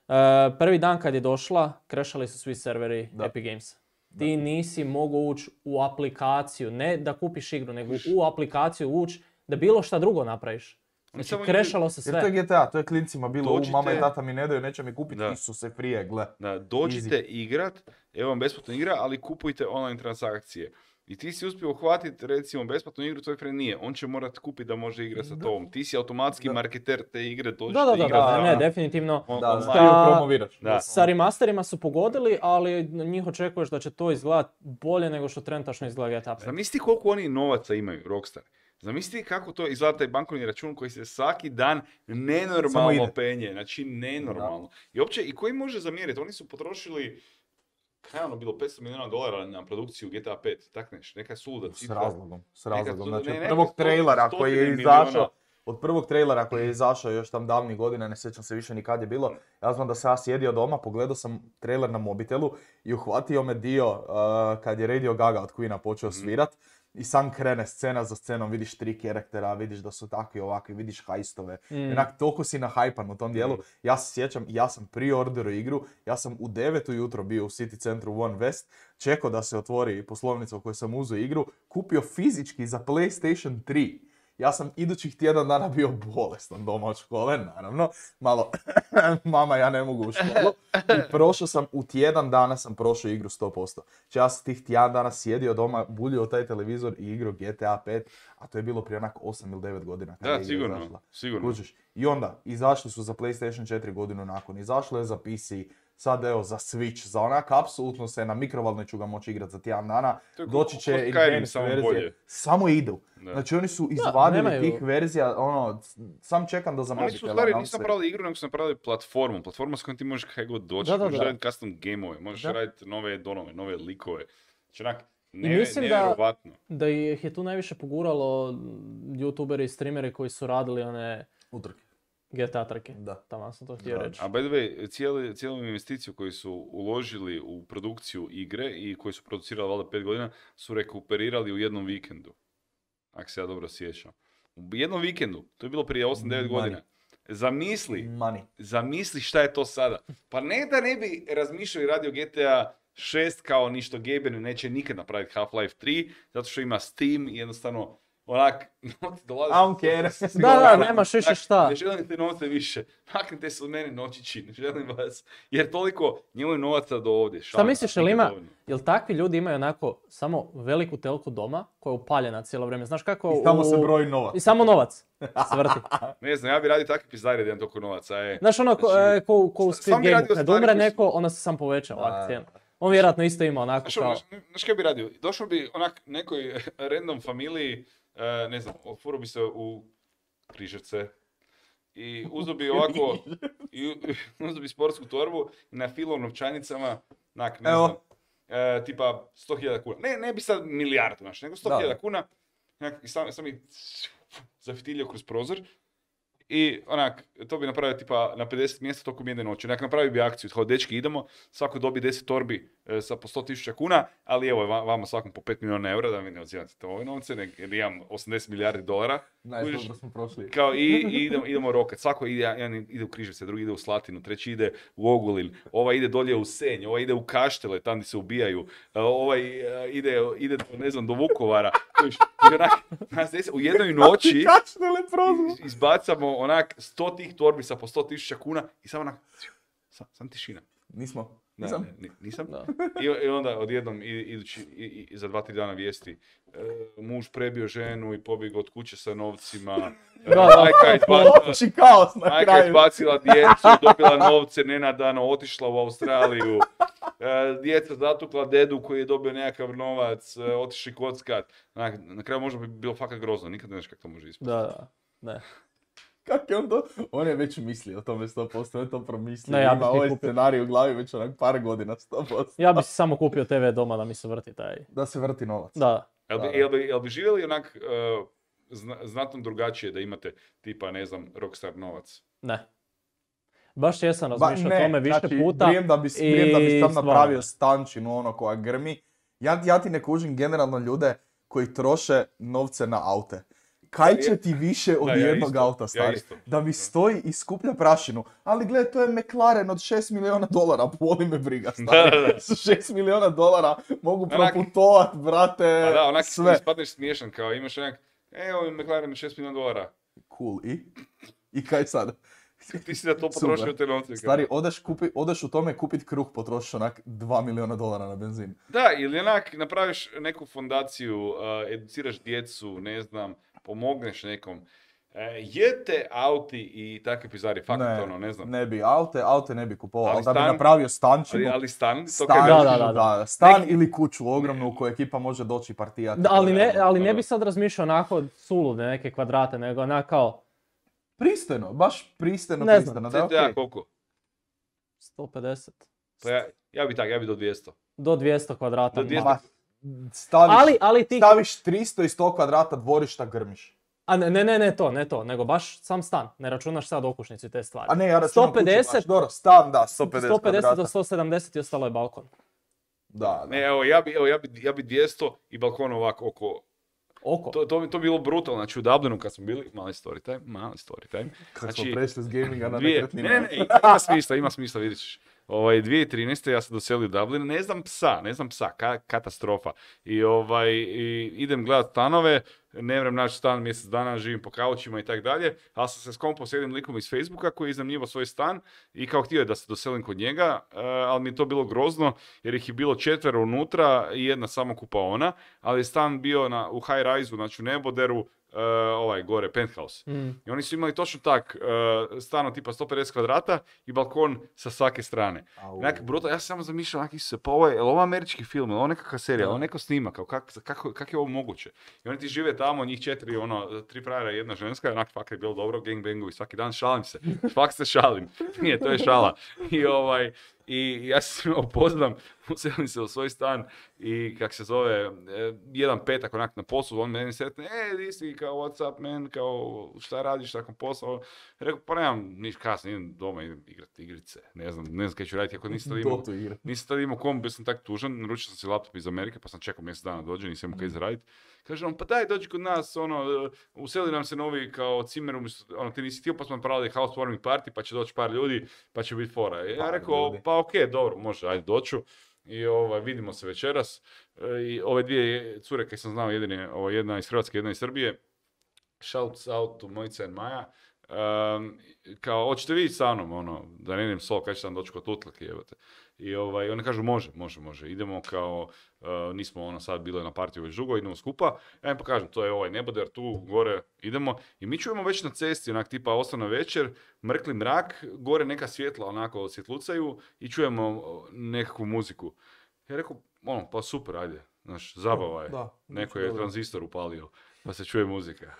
uh, prvi dan kad je došla, krešali su svi serveri Da. Epic Games. Ti nisi mogao ući u aplikaciju, ne da kupiš igru, nego u aplikaciju ući da bilo šta drugo napraviš. Oni Znači, samo krešalo se Jer to je sve. G T A, to je klincima bilo, u Dođite- mama i tata mi ne daju, neće mi kupiti, Da. Isuse prije, gle. Da, dođite igrat, evo vam besplatna igra, ali kupujte online transakcije. I ti si uspio uhvatiti recimo besplatnu igru, tvoj friend nije. On će morat kupiti da može igrati sa tobom. Ti si automatski Da. marketer te igre, dođite Da, da, da, igrat da, sa ne, nama. definitivno. On- Da, online. da, ti ju promoviraš. Da. Sa remasterima su pogodili, ali na njih očekuješ da će to izgledati bolje nego što trenutačno izgleda G T A pet. Zamisli koliko oni novaca imaju, Rockstar. Zamisli kako to izgleda taj bankovni račun koji se svaki dan Samo nenormalno ide. penje. Znači nenormalno. I uopće, i koji može zamjeriti? Oni su potrošili, kaj je ono bilo, petsto milijuna dolara na produkciju G T A pet. Tak neš, neka suluda S cifra. razlogom, s razlogom. su- Znači, ne, od neke prvog sto- trailera koji je stotine milijuna. izašao, od prvog trailera koji je izašao još tam davnih godina, ne sjećam se više ni kad je bilo, ja znam da sam ja sjedio doma, pogledao sam trailer na mobitelu i uhvatio me dio uh, kad je Radio Gaga od Queena počeo svirat i sam krene scena za scenom, vidiš tri karaktera, vidiš da su takvi ovakvi, vidiš hajstove. Mm. Onak, toliko si nahajpan u tom dijelu. Ja se sjećam, ja sam pre-orderao igru, ja sam u devet ujutro bio u City centru One West, čekao da se otvori poslovnica u kojoj sam uzeo igru, kupio fizički za PlayStation tri. Ja sam idućih tjedan dana bio bolestan doma od škole, naravno. Malo, mama, ja ne mogu u školu. I prošao sam, u tjedan dana sam prošao igru sto posto. Znači ja sam tih tjedan dana sjedio doma, buljio taj televizor i igrao G T A pet, a to je bilo prije onak osam ili devet godina. Kad je Da, igra sigurno, izašla. sigurno. Kužiš. I onda, izašli su za PlayStation četiri godinu nakon, izašlo je za P C, sad evo za Switch, za onak apsolutno se na mikrovalnoj ću ga moći igrati za tjedan dana, To je ko- doći ko će Skyrim, advanced samo verzije, bolje. samo idu. Da. Znači oni su izvadili nemaju- tih verzija, ono, sam čekam da za Oni su u mobitela stvari nam nisu se- napravili igru, nego su napravili platformu. Platforma s kojom ti možeš kaj god doći. Da, da, možeš da. raditi custom gameove, možeš Da. raditi nove donove, nove likove. Znači onak, I ne, mislim da- nevjerovatno. Da ih je tu najviše poguralo youtuberi i streameri koji su radili one Utrke. G T A trke. Da. Tamo sam to htio Da. reći. A by the way, cijeli, cijelu investiciju koju su uložili u produkciju igre i koju su producirali valjda pet godina, su rekuperirali u jednom vikendu. Ako se ja dobro sjećam. U jednom vikendu, to je bilo prije osam devet Money. godina. Zamisli, Money. zamisli šta je to sada. Pa ne da ne bi razmišljao i radio G T A šest kao ništo Gaben neće nikad napraviti Half-Life tri, zato što ima Steam i jednostavno onak, novci dolaze. I don't care. Da, da, nemaš više šta. Ne želim te novce više. Maknite se od mene noćići, ne želim vas. Jer toliko njemu je novaca do ovdje. Šta šalim, misliš, jel nikad ima, dovoljno. jel takvi ljudi imaju onako samo veliku telku doma koja je upaljena cijelo vrijeme? Znaš kako I tamo se u- broji novac. I samo novac se vrti. Ne znam, ja bi radio takve pizdare da imam toliko novaca. E. Znaš ono ko, Znači, e, ko, ko u sam Squid bi Game, radio kad stvari umre koje su- neko, onda se sam poveća ovak Da, cijena. On vjerojatno isto ima onako Znaš, ono, kao... znaš, znaš kaj bi radio? Došao bi onak nekoj random familiji, e, ne znam, ofuro bi se u Križevce i uzeo bi ovako, i u- uzeo bi sportsku torbu i na filo novčanicama, onak, ne Evo. znam, e, tipa sto hiljada kuna. Ne, ne bi sad milijardu, znaš, nego sto hiljada Da. kuna. Onak, i sam, sam bi zafitilio kroz prozor I onak, to bi napravio tipa na pedeset mjesta tokom jedne noći. Onak, napravio bi akciju, kao dečki idemo, svako dobi deset torbi e, sa po sto tisuća kuna, ali evo va- vama svakom po pet milijuna eura, da mi ne odzivate to ove novce, nek, jer imam osamdeset milijardi dolara. Najbolje smo prošli. Kao i, i idemo, idemo rokat. Svako ide, jedan ide u Križevce, drugi ide u Slatinu, treći ide u Ogulin, ovaj ide dolje u Senj, ovaj ide u Kaštele, tam gdje se ubijaju, uh, ovaj uh, ide, ide do, ne znam, do Vukovara. Kojiš, i onak, nas desi, u jednoj noći Kaštele prozvo. izbacamo onak sto tih torbi sa po sto tisuća kuna i samo onak, sam, sam tišina. Nismo. Ne, Nisam. ne, ni- nisam. Da. I, I onda odjednom i- idući, i, i, za dva, tri dana vijesti. E, muž prebio ženu i pobjegao od kuće sa novcima. E, Da, da. majka je izbacila, Opći kaos na majka je kraju. izbacila djecu, dobila novce nenadano, otišla u Australiju. E, djeca zatukla dedu koji je dobio nekakav novac, e, otišli kockat. Na, na kraju možda bi bilo fakat grozno, nikad ne znaš kako to može ispasti. Da, da. Ne. Kako je on to? On je već mislio o tome sto posto, on je to promislio. Ne, ja bih Ima si ovaj kupio. scenarij u glavi već onak par godina, sto posto. Ja bi si samo kupio te ve doma da mi se vrti taj. Da se vrti novac. Da. Jel bi, Da, da. jel bi, jel bi živjeli onak e, zna, znatno drugačije da imate tipa, ne znam, rockstar novac? Ne. Baš jesam Ba, razmišljao o tome više znači, puta. Vrijem da bi, vrijem da bi i sam stvarno. napravio stančinu ono koja grmi. Ja, ja ti ne kužim generalno ljude koji troše novce na aute. Kaj će ti više od Da, ja jednog isto, auta, ja stari? isto. Da mi stoji i skuplja prašinu. Ali gle, to je McLaren od šest milijuna dolara, boli me briga, stari. Da, da, da. Sa šest milijuna dolara mogu Onak- proputovat, brate, Pa da, onak sve. ispadneš smiješan, kao imaš onak, e, ovo je McLaren od šest milijuna dolara. Cool, i? I kaj sad? Ti si da to Super. potrošio te novce. kao. Stari, odeš, kupi, odeš u tome kupit kruh, potrošiš onak dva milijuna dolara na benzin. Da, ili onak napraviš neku fondaciju, uh, educiraš djecu, ne znam, pomogneš nekom. E, jete auti i takve pizari, fakat ono, ne znam. Ne bi aute, aute ne bi kupovao, Ali ali da bi stan- napravio stančinu, Ali, ali stan, to stan, kaj Da, kažeš, da, da. da, stan Neki- ili kuću ogromnu u kojoj ekipa može doći i partijati. Da, ali ne, ali ne da. bi sad razmišljao onako sulude neke kvadrate, nego onak kao Pristojno, baš pristojno, Ne znam, pristojno, da je C T A okej. koliko? sto pedeset. Pa ja, ja bi tak, ja bi do dvjesto. Do dvjesto kvadrata. Do dvjesto. Ma, staviš, Ali, ali ti... staviš tristo i sto kvadrata dvorišta, grmiš. A ne, ne, ne, ne to, ne to, nego baš sam stan. Ne računaš sad okućnicu i te stvari. A ne, ja računam sto pedeset, kuću, baš, dobro, stan, da, sto pedeset, sto pedeset kvadrata. do sto sedamdeset i ostalo je balkon. Da, da. Ne, evo, ja bi, evo, ja bi, ja bi dvjesto i balkon ovako oko. Oko. To, to, bi- to bi bilo brutalno, znači u Dublinu kad smo bili, mali story time, mali story time. Kad Znači, smo prešli s gaminga na Dvije, ne, nekretnine. ne, ne, ima smisla, ima smisla, vidit ćeš. Ovaj, dvije tisuće trinaeste ja sam doselio u Dublin, ne znam psa, ne znam psa, ka- katastrofa. I, ovaj, i idem gledat stanove, ne vrem naći stan mjesec dana, živim po kaučima i tak dalje, ali sam se skompao s jednim likom iz Facebooka koji je iznajmljivao svoj stan i kao htio je da se doselim kod njega, eh, ali mi je to bilo grozno jer ih je bilo četvero unutra i jedna samo kupaona, ali je stan bio na, u high rise-u, znači u neboderu, eh, ovaj gore, penthouse. Mm. I oni su imali točno tak, uh, stano tipa sto pedeset kvadrata i balkon sa svake strane. Au. Onak brutal, ja sam samo zamišljao, onak se, pa ovo je, je li ovo američki film, je li ovo nekakva serija, je li ovo neko snima, kao kak, kako, kako je ovo moguće? I oni ti žive tamo, njih četiri, ono, tri frajera i jedna ženska, onak fakt je bilo dobro, gangbangovi svaki dan, šalim se, fakt se šalim, nije, to je šala. I ovaj, i ja se imao poznam, uselim se u svoj stan i kak se zove, e, jedan petak onak na poslu, on meni sretne, e, di si, kao, what's up, man, kao, šta radiš nakon posla? Rekao, pa nemam niš kasno, idem doma, idem igrati igrice, ne znam, ne znam kaj ću raditi, ako nisam tad imao, Dotu igra. nisam tad imao komp, bio sam tak tužan, naručio sam si laptop iz Amerike, pa sam čekao mjesec dana dođe, nisam imao kaj zaraditi. Kaže on, pa daj, dođi kod nas, ono, useli nam se novi kao cimer, umjesto- ono, ti nisi htio, pa smo napravili housewarming party, pa će doći par ljudi, pa će biti fora. I ja Par rekao, ljudi. pa okej, dobro, može, ajde doću. I ovaj, vidimo se večeras. E, I ove dvije cure koje sam znao, jedine, ovo, jedna iz Hrvatske, jedna iz Srbije, shouts out to Mojica and Maja, um, kao, hoćete vi sa mnom, ono, da ne idem sol, kad će sam doći kod tutlake, jebote. I ovaj, oni kažu, može, može, može, idemo kao, uh, nismo ono sad bili na partiju već dugo, idemo skupa. Ja im pokažem, to je ovaj neboder, tu gore idemo. I mi čujemo već na cesti, onak tipa osam večer, mrkli mrak, gore neka svjetla onako svjetlucaju i čujemo uh, nekakvu muziku. Ja rekao, ono, pa super, ajde, znaš, zabava je. Da, Neko je dobro. tranzistor upalio, pa se čuje muzika.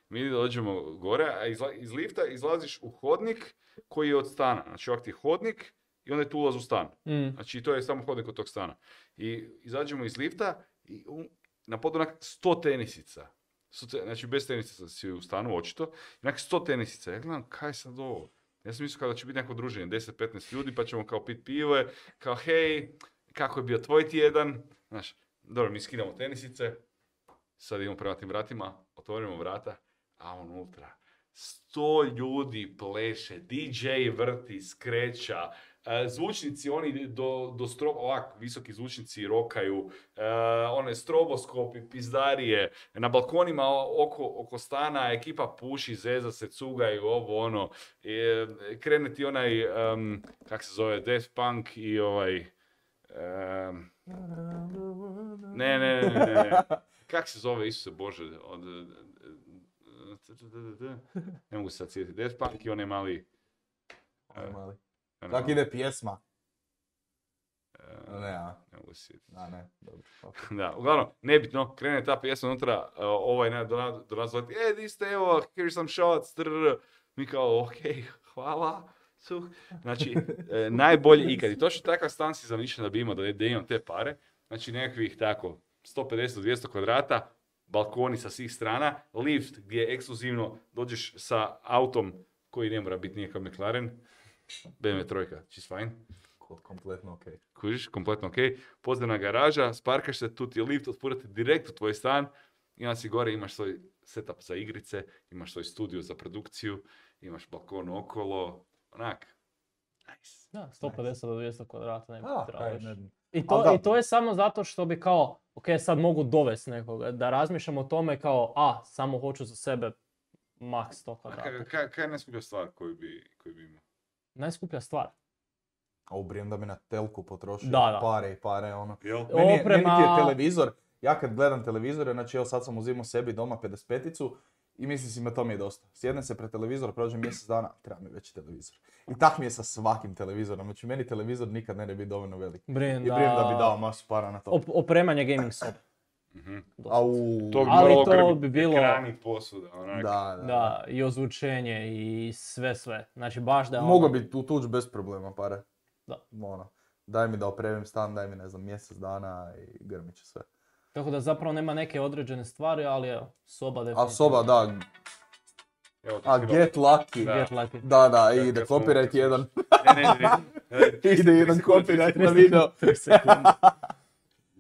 Mi dođemo gore, a izla, iz lifta izlaziš u hodnik koji je od stana. Znači ovak ti je hodnik i onda je tu ulaz u stan. Mm. Znači to je samo hodnik od tog stana. I izađemo iz lifta i u, na podu onak sto tenisica. Znači, bez tenisica si u stanu, očito. Onak sto tenisica. Ja gledam, kaj sad ovo? Ja sam mislio kao da će biti neko druženje, deset petnaest ljudi, pa ćemo kao pit pive, kao hej, kako je bio tvoj tjedan? Znaš, dobro, mi skidamo tenisice, sad idemo prema tim vratima, otvorimo vrata, a unutra sto ljudi pleše, D J vrti, skreća, zvučnici, oni do, do strobo, ovak, visoki zvučnici rokaju, uh, one stroboskopi, pizdarije, na balkonima oko, oko stana ekipa puši, zeza se, cugaju, ovo ono, e, krene ti onaj, um, kak se zove, Daft Punk i ovaj, um, ne, ne, ne, ne, ne, kak se zove, Isuse Bože, od, ne mogu se sad sjetiti, Daft Punk i onaj mali, uh, mali. Kako ide pjesma? Uh, ne, a? Ne mogu se sjetiti. A, ne, dobro. Okay. Da, uglavnom, nebitno, krene ta pjesma unutra, uh, ovaj ne, do, nas, do nas zove, e, di ste, evo, here's some shots, trrr. Mi kao, okej, okay, hvala. Suh. Znači, e, najbolje ikad. I točno takav stan si zamišljen da bi imao, da, da imam te pare. Znači, nekakvih tako, sto pedeset do dvjesto kvadrata, balkoni sa svih strana, lift gdje ekskluzivno dođeš sa autom koji ne mora biti nikakav McLaren, B M W trojka, she's fine. Kompletno ok. Kužiš, kompletno ok. Podzemna garaža, sparkaš se, tu ti je lift, otvorite direkt u tvoj stan, i onda si gore, imaš svoj setup za igrice, imaš svoj studio za produkciju, imaš balkon okolo, onak. Nice. Da, sto pedeset do dvjesto kvadrata ne bi Ah, trebalo. ne, ne. I to, da. I to je samo zato što bi kao, ok, sad mogu dovesti nekoga, da razmišljam o tome kao, a, samo hoću za sebe maks sto kvadrata. Kaj ka, ka je najskuplja stvar koju bi, koju bi imao? Najskuplja stvar. A ubrijem da bi na telku potrošio Da, da. pare i pare, ono. Jel? Meni, je, Oprema- meni ti je televizor, ja kad gledam televizore, znači evo sad sam uzimao sebi doma pedeset peticu i mislim si me to mi je dosta. Sjednem se pred televizor, prođe mjesec dana, treba mi veći televizor. I tak mi je sa svakim televizorom, znači meni televizor nikad ne bi biti dovoljno velik. Brin, I brijem da bi dao masu para na to. Op- opremanje gaming sobe. Mm-hmm. Au, To bi Ali moralo to grbiti bi bilo- ekrani, posuda, onak. da, da. Da, i ozvučenje i sve sve. Znači baš da je Mogu ono- bi tu tuđ bez problema pare. Da. Ono, daj mi da opremim stan, daj mi ne znam mjesec dana i grmit će sve. Tako da zapravo nema neke određene stvari, ali evo, soba definitivno. A soba, da, Evo, ti a si get lucky. Da. Get lucky. Da, da, Kad- ide kad smo- copyright kad smo- jedan. Ne, ne, ne, ne. Ide jedan copyright na video.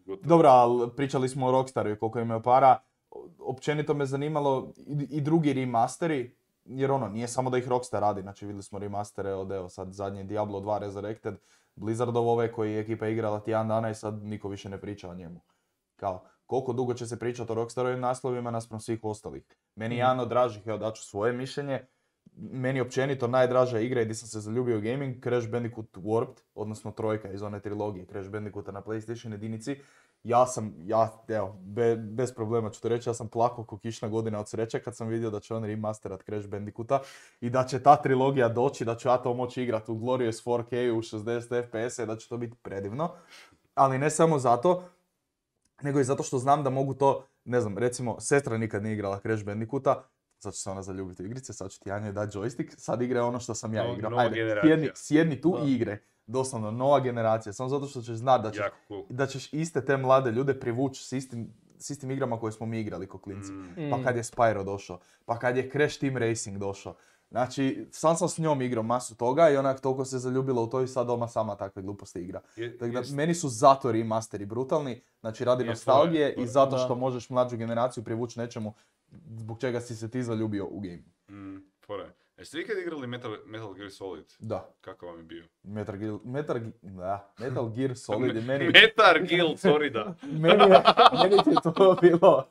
Gotovo. Dobro, ali pričali smo o Rockstaru i koliko imaju para. Općenito me zanimalo i, i drugi remasteri, jer ono, nije samo da ih Rockstar radi, znači vidjeli smo remastere od, evo sad zadnji Diablo dva Resurrected, Blizzardov ove koji je ekipa igrala tjedan dana i sad niko više ne priča o njemu. Kao, koliko dugo će se pričati o Rockstarovim naslovima naspram svih ostalih. Meni je jedan od dražih, evo daću svoje mišljenje, meni općenito najdraža igra i gdje sam se zaljubio u gaming, Crash Bandicoot Warped, odnosno trojka iz one trilogije Crash Bandicoota na PlayStation jedinici. Ja sam, ja, evo, be, bez problema ću to reći, ja sam plakao ko kišna godina od sreće kad sam vidio da će on remasterat Crash Bandicoota i da će ta trilogija doći, da ću ja to moći igrati u Glorious four K u šezdeset F P S i da će to biti predivno. Ali ne samo zato, nego i zato što znam da mogu to, ne znam, recimo, sestra nikad nije igrala Crash Bandicoota, sad će se ona zaljubiti u igrice, sad ću ti ja njoj dati joystick, sad igre ono što sam ja No- igrao. nova Ajde, generacija. sjedni, sjedni tu Da. i igre. Doslovno, nova generacija, samo zato što ćeš znati da ćeš, Jako cool. da ćeš iste te mlade ljude privući s istim, s istim igrama koje smo mi igrali ko klinci. Mm. Pa kad je Spyro došao, pa kad je Crash Team Racing došao. Znači, sam sam s njom igrao masu toga i onak toliko se zaljubila u to i sad doma sama takve gluposti igra. Je- Tako da, jest- meni su zato remasteri brutalni, znači radi Je, nostalgije to je- i zato da. što možeš mlađu generaciju privući nečemu zbog čega si se ti zaljubio u game. Mm, fora je. Jeste vi ikad igrali Metal, Metal Gear Solid? Da, Kako vam je bio? Metal Gear, Metal, Ge- da, Metal Gear Solid je meni, Metal Gear, sorry da. meni, je, meni ti je to bilo,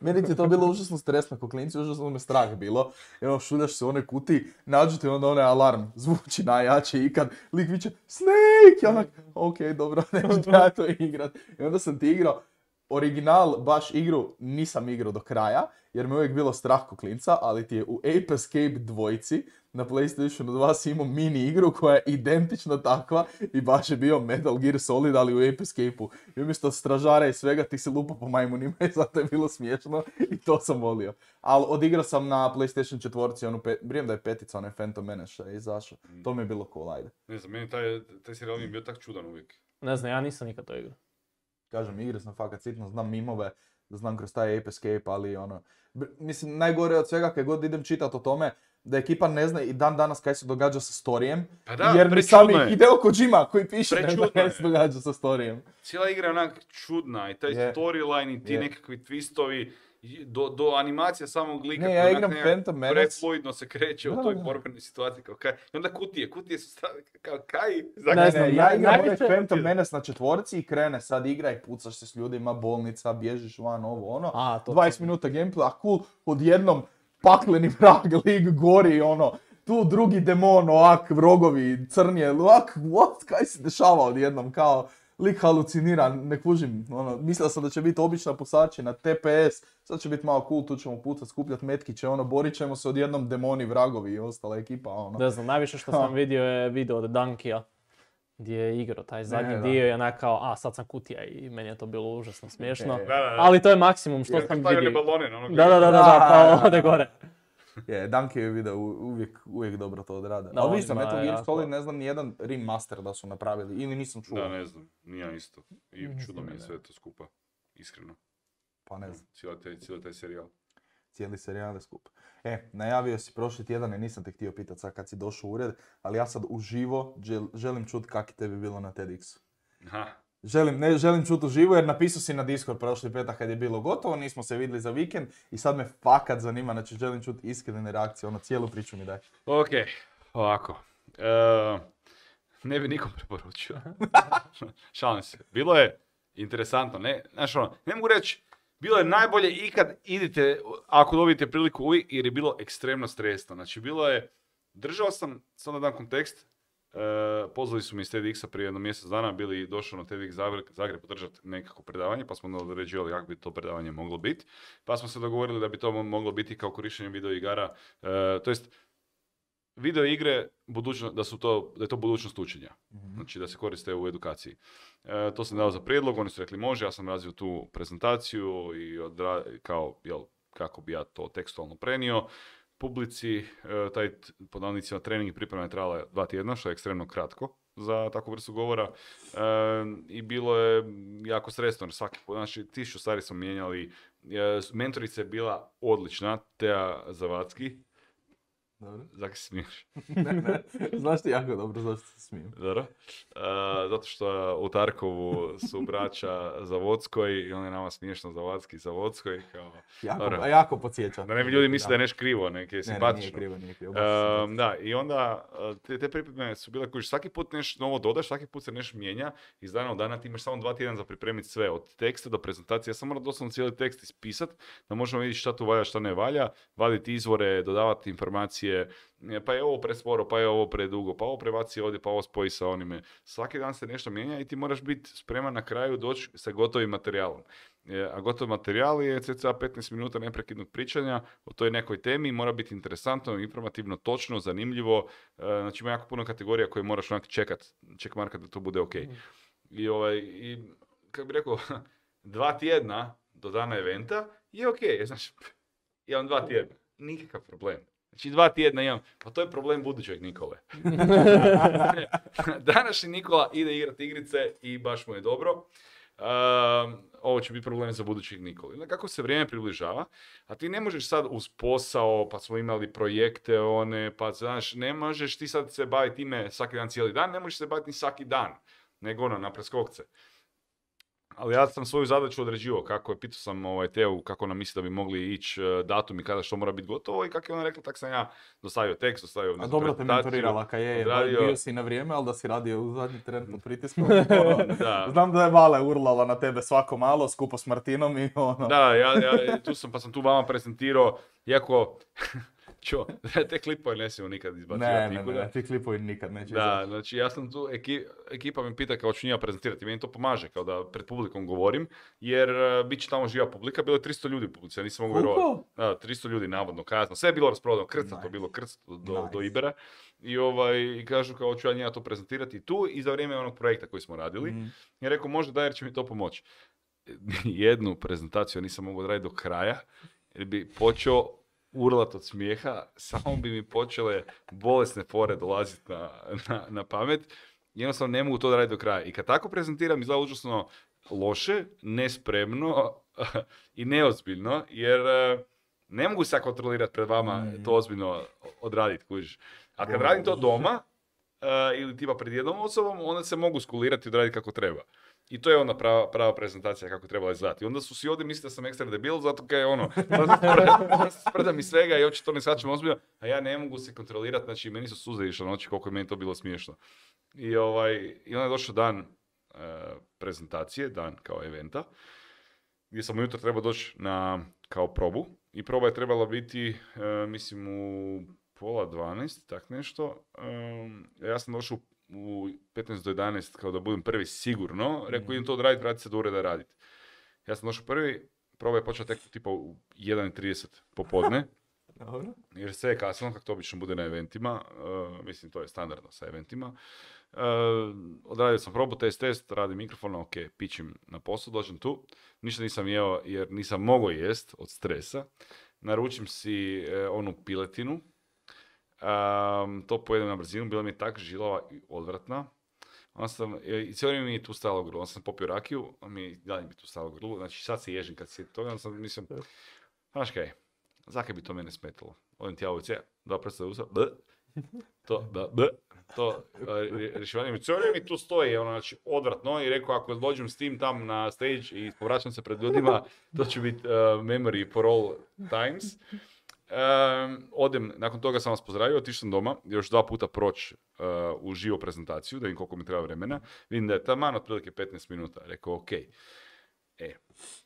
meni ti je to bilo užasno stresno ko klinci, užasno me strah bilo. Evo, šuljaš se u onoj kutiji, nađu ti onda onaj alarm, zvuči najjače ikad, lik viče Snake, ja onak, ok, dobro, neću ja to igrat. I onda sam ti igrao, original, baš igru, nisam igrao do kraja, jer me uvijek bilo strah ko klinca, ali ti je u Ape Escape dvojci na PlayStationu dva si imao mini igru koja je identična takva i baš je bio Metal Gear Solid, ali u Ape Escape-u. I umjesto stražara i svega ti se lupa po majmunima i zato je bilo smiješno i to sam volio. Ali odigrao sam na PlayStation četvorci, onu pe- brijem da je petica, onaj Phantom Menace što je izašao. To mi je bilo cool, ajde. Ne znam, meni taj, taj serijal mi je bio tak čudan uvijek. Ne znam, ja nisam nikad to igrao. Kažem, igre sam fakat sitno, znam mimove, da znam kroz taj Ape Escape, ali ono, b- mislim, najgore od svega kad god idem čitati o tome, da ekipa ne zna i dan danas kaj se događa sa storijem, Pa da, jer ni prečudno sami je. Hideo Kojima koji piše ne zna Prečudno kaj je. se događa sa storijem. Cijela igra je onak čudna i taj Je. storyline i ti Je. nekakvi twistovi, i do, do animacija samog lika Ne, koji ja onak igram nekak Phantom Menace. prefluidno se kreće Da, u toj da. borbenoj situaciji. Kao kaj. I onda kutije, kutije su stavili kao kaj? Ne Zakaj? znam, Ne, ja naj- igram najviše- onaj Phantom Menace na četvorci i krene sad igra i pucaš se s ljudima, bolnica, bježiš van, ovo ono. A, to dvadeset minuta gameplay, a cool, odjednom pakleni vrag, lig gori, ono, tu drugi demon, ovak, vrogovi, crnje, ovak, what, kaj se dešava odjednom, kao, lik halucinira, ne kužim, ono, mislio sam da će biti obična pusačina, T P S, sad će biti malo cool, tu ćemo pucat, skupljat metkiće, ono, borit ćemo se odjednom demoni, vragovi i ostala ekipa, ono. Ne znam, najviše što sam vidio je video od Dunkija, gdje je igrao taj zadnji da. dio i onak kao, a sad sam kutija i meni je to bilo užasno smiješno. E, Da, da, da. Ali to je maksimum što Jer sam stavljali vidio. balone na onog Da, da, da, da, da, Da, pa da, ode da. gore. Je, Dunkejevi video u- uvijek, uvijek dobro to odrade. Da, Ali on vi za ima Metal Gear jako- Solid ne znam nijedan remaster da su napravili, ili nisam čuo. Da, ne znam, nije ja isto. I Mislim čudno mi je da sve to skupa, iskreno. Pa ne znam, Cijeli taj, cijeli taj serijal. cijeli serijal je skup. E, najavio si prošli tjedan i nisam te htio pitat sad kad si došao u ured, ali ja sad uživo žel- želim čut kak je tebi bilo na TEDxu. Aha. Želim, ne želim čut uživo jer napisao si na Discord prošli petak kad je bilo gotovo, nismo se vidjeli za vikend i sad me fakat zanima, znači želim čut iskrene reakcije, ono cijelu priču mi daj. Ok, ovako. E, ne bi nikom preporučio. Šalim se. Bilo je interesantno, ne, znaš ono, ne mogu reći, bilo je najbolje ikad idite, ako dobijete priliku uvijek, jer je bilo ekstremno stresno. Znači, bilo je, držao sam, sad da dam kontekst, e, pozvali su mi iz TEDxa prije jedno mjesec dana, bili došao na TEDx Zagreb, Zagreb podržati nekako predavanje, pa smo određivali kako bi to predavanje moglo biti. Pa smo se dogovorili da bi to mo- moglo biti kao korištenje video igara, e, to jest, video igre, budućno, da, su to, da je to budućnost učenja. Znači da se koriste u edukaciji. E, to sam dao za prijedlog, oni su rekli može, ja sam razvio tu prezentaciju i odra, kao, jel, kako bi ja to tekstualno prenio. Publici, e, taj t- pod navodnicima trening i priprema je trajala dva tjedna, što je ekstremno kratko za takvu vrstu govora. E, I bilo je jako stresno, jer svaki put, znači tisuću stvari smo mijenjali. E, mentorica je bila odlična, Teja Zavadski. Dobro. Zakaj se smiješ? ne, ne, znaš ti jako dobro zašto se smijem. Dobro. Uh, zato što u Tarkovu su braća Zavodskoj i on je nama smiješno Zavodski Zavodskoj. Kao, Jako, dobro. a jako podsjeća. Da ne bi ljudi mislili da je nešto krivo, neke je Ne, ne, nije simpatično. krivo, nije krivo. baš je Um, da, i onda uh, te, te pripreme su bile koji svaki put nešto novo dodaš, svaki put se nešto mijenja, iz dana u dana ti imaš samo dva tjedna za pripremiti sve, od teksta do prezentacije. Ja sam moram doslovno cijeli tekst ispisat, da možemo vidjeti šta tu valja, šta ne valja, vaditi izvore, dodavati informacije, e, pa je ovo presporo, pa je ovo predugo, pa ovo prebaci ovdje, pa ovo spoji sa onime. Svaki dan se nešto mijenja i ti moraš biti spreman na kraju doći sa gotovim materijalom. E, a gotov materijal je cca petnaest minuta neprekidnog pričanja o toj nekoj temi, mora biti interesantno, informativno, točno, zanimljivo, e, znači ima jako puno kategorija koje moraš onak čekat, check markat da to bude ok. I, ovaj, i kako bi rekao, dva tjedna do dana eventa je ok, znači, imam dva tjedna, nikakav problem. Znači dva tjedna imam, pa to je problem budućeg Nikole. Današnji Nikola ide igrati igrice i baš mu je dobro. Um, ovo će biti problem za budućeg Nikole. Onda kako se vrijeme približava, a ti ne možeš sad uz posao, pa smo imali projekte one, pa znaš, ne možeš ti sad se baviti time svaki dan cijeli dan, ne možeš se baviti ni svaki dan, nego ono, na preskokce. Ali ja sam svoju zadaću određivao, kako je, pitao sam ovaj, Teu kako ona misli da bi mogli ići uh, datum i kada što mora biti gotovo i kako je ona rekla, tak sam ja dostavio tekst, dostavio A dobro te mentorirala, kaj je, odradio- bio si na vrijeme, ali da si radio u zadnji tren pod pritiskom. Da. Znam da je Vale urlala na tebe svako malo, skupo s Martinom i ono. Da, ja, ja tu sam, pa sam tu vama prezentirao, iako, čo, te klipove ne smijemo nikad izbacivati ne, ne, ne, nikuda. ne, ti klipovi nikad neće Da, izaći. znači ja sam tu, eki, ekipa me pita kao ću njima prezentirati, meni to pomaže kao da pred publikom govorim, jer uh, bit će tamo živa publika, bilo je tristo ljudi u publici, ja nisam mogu Koliko? vjerovati. Da, tristo ljudi navodno, kazno, sve je bilo rasprodano, krcato, Nice. bilo krcato do, Nice. do Ibera. I, ovaj, i kažu kao ću ja njima to prezentirati tu i za vrijeme onog projekta koji smo radili. Mm. I rekao može da jer će mi to pomoći. Jednu prezentaciju nisam mogao odraditi do kraja, jer bi počeo urlat od smijeha, samo bi mi počele bolesne fore dolaziti na, na, na pamet. Jednostavno ne mogu to raditi do kraja. I kad tako prezentiram, izgleda užasno loše, nespremno, i neozbiljno, jer uh, ne mogu se kontrolirati pred vama mm. to ozbiljno odraditi, kužiš. A kad radim to doma, uh, ili tipa pred jednom osobom, onda se mogu skulirati i odraditi kako treba. I to je onda prava, prava prezentacija kako treba izgledati. Onda su svi ovdje mislili da sam ekstra debil, zato kaj je ono, sprdam i svega i uopće to ne shvaćam ozbiljno, a ja ne mogu se kontrolirati, znači meni su suze išle noći koliko je meni to bilo smiješno. I, ovaj, i onda je došao dan uh, prezentacije, dan kao eventa, gdje sam ujutro trebao doći na kao probu i proba je trebala biti, uh, mislim, u pola dvanaest, tak nešto. Um, ja sam došao u petnaest do jedanaest kao da budem prvi sigurno, rekao idem to odraditi, vrati se do ureda raditi. Ja sam došao prvi, proba je počela tek tipa u jedan i trideset popodne, jer sve je kasno, kako to obično bude na eventima, uh, mislim to je standardno sa eventima. Uh, odradio sam probu, test, test, radim mikrofon, ok, pičim na poslu, dođem tu, ništa nisam jeo jer nisam mogao jest od stresa, naručim si uh, onu piletinu. Um, to pojedem na brzinu, bila mi je tak žilava i odvratna. Onda sam, i cijelo vrijeme mi je tu stalo grlo, onda sam popio rakiju, a mi dalje mi je tu stalo grlo, znači sad se ježim kad se toga, onda sam mislim, znaš kaj, zakaj bi to mene smetalo? Odem ti ja u cija, dva prsta usta, b, to, b, b, to, rješivanje mi, cijelo vrijeme mi tu stoji, ono, znači, odvratno, i rekao, ako dođem s tim tam na stage i povraćam se pred ljudima, to će biti uh, memory for all times. Um, odem, nakon toga sam vas pozdravio, otišao sam doma, još dva puta proći uh, u živo prezentaciju, da vidim koliko mi treba vremena. Vidim da je taman otprilike petnaest minuta. Rekao, ok. E.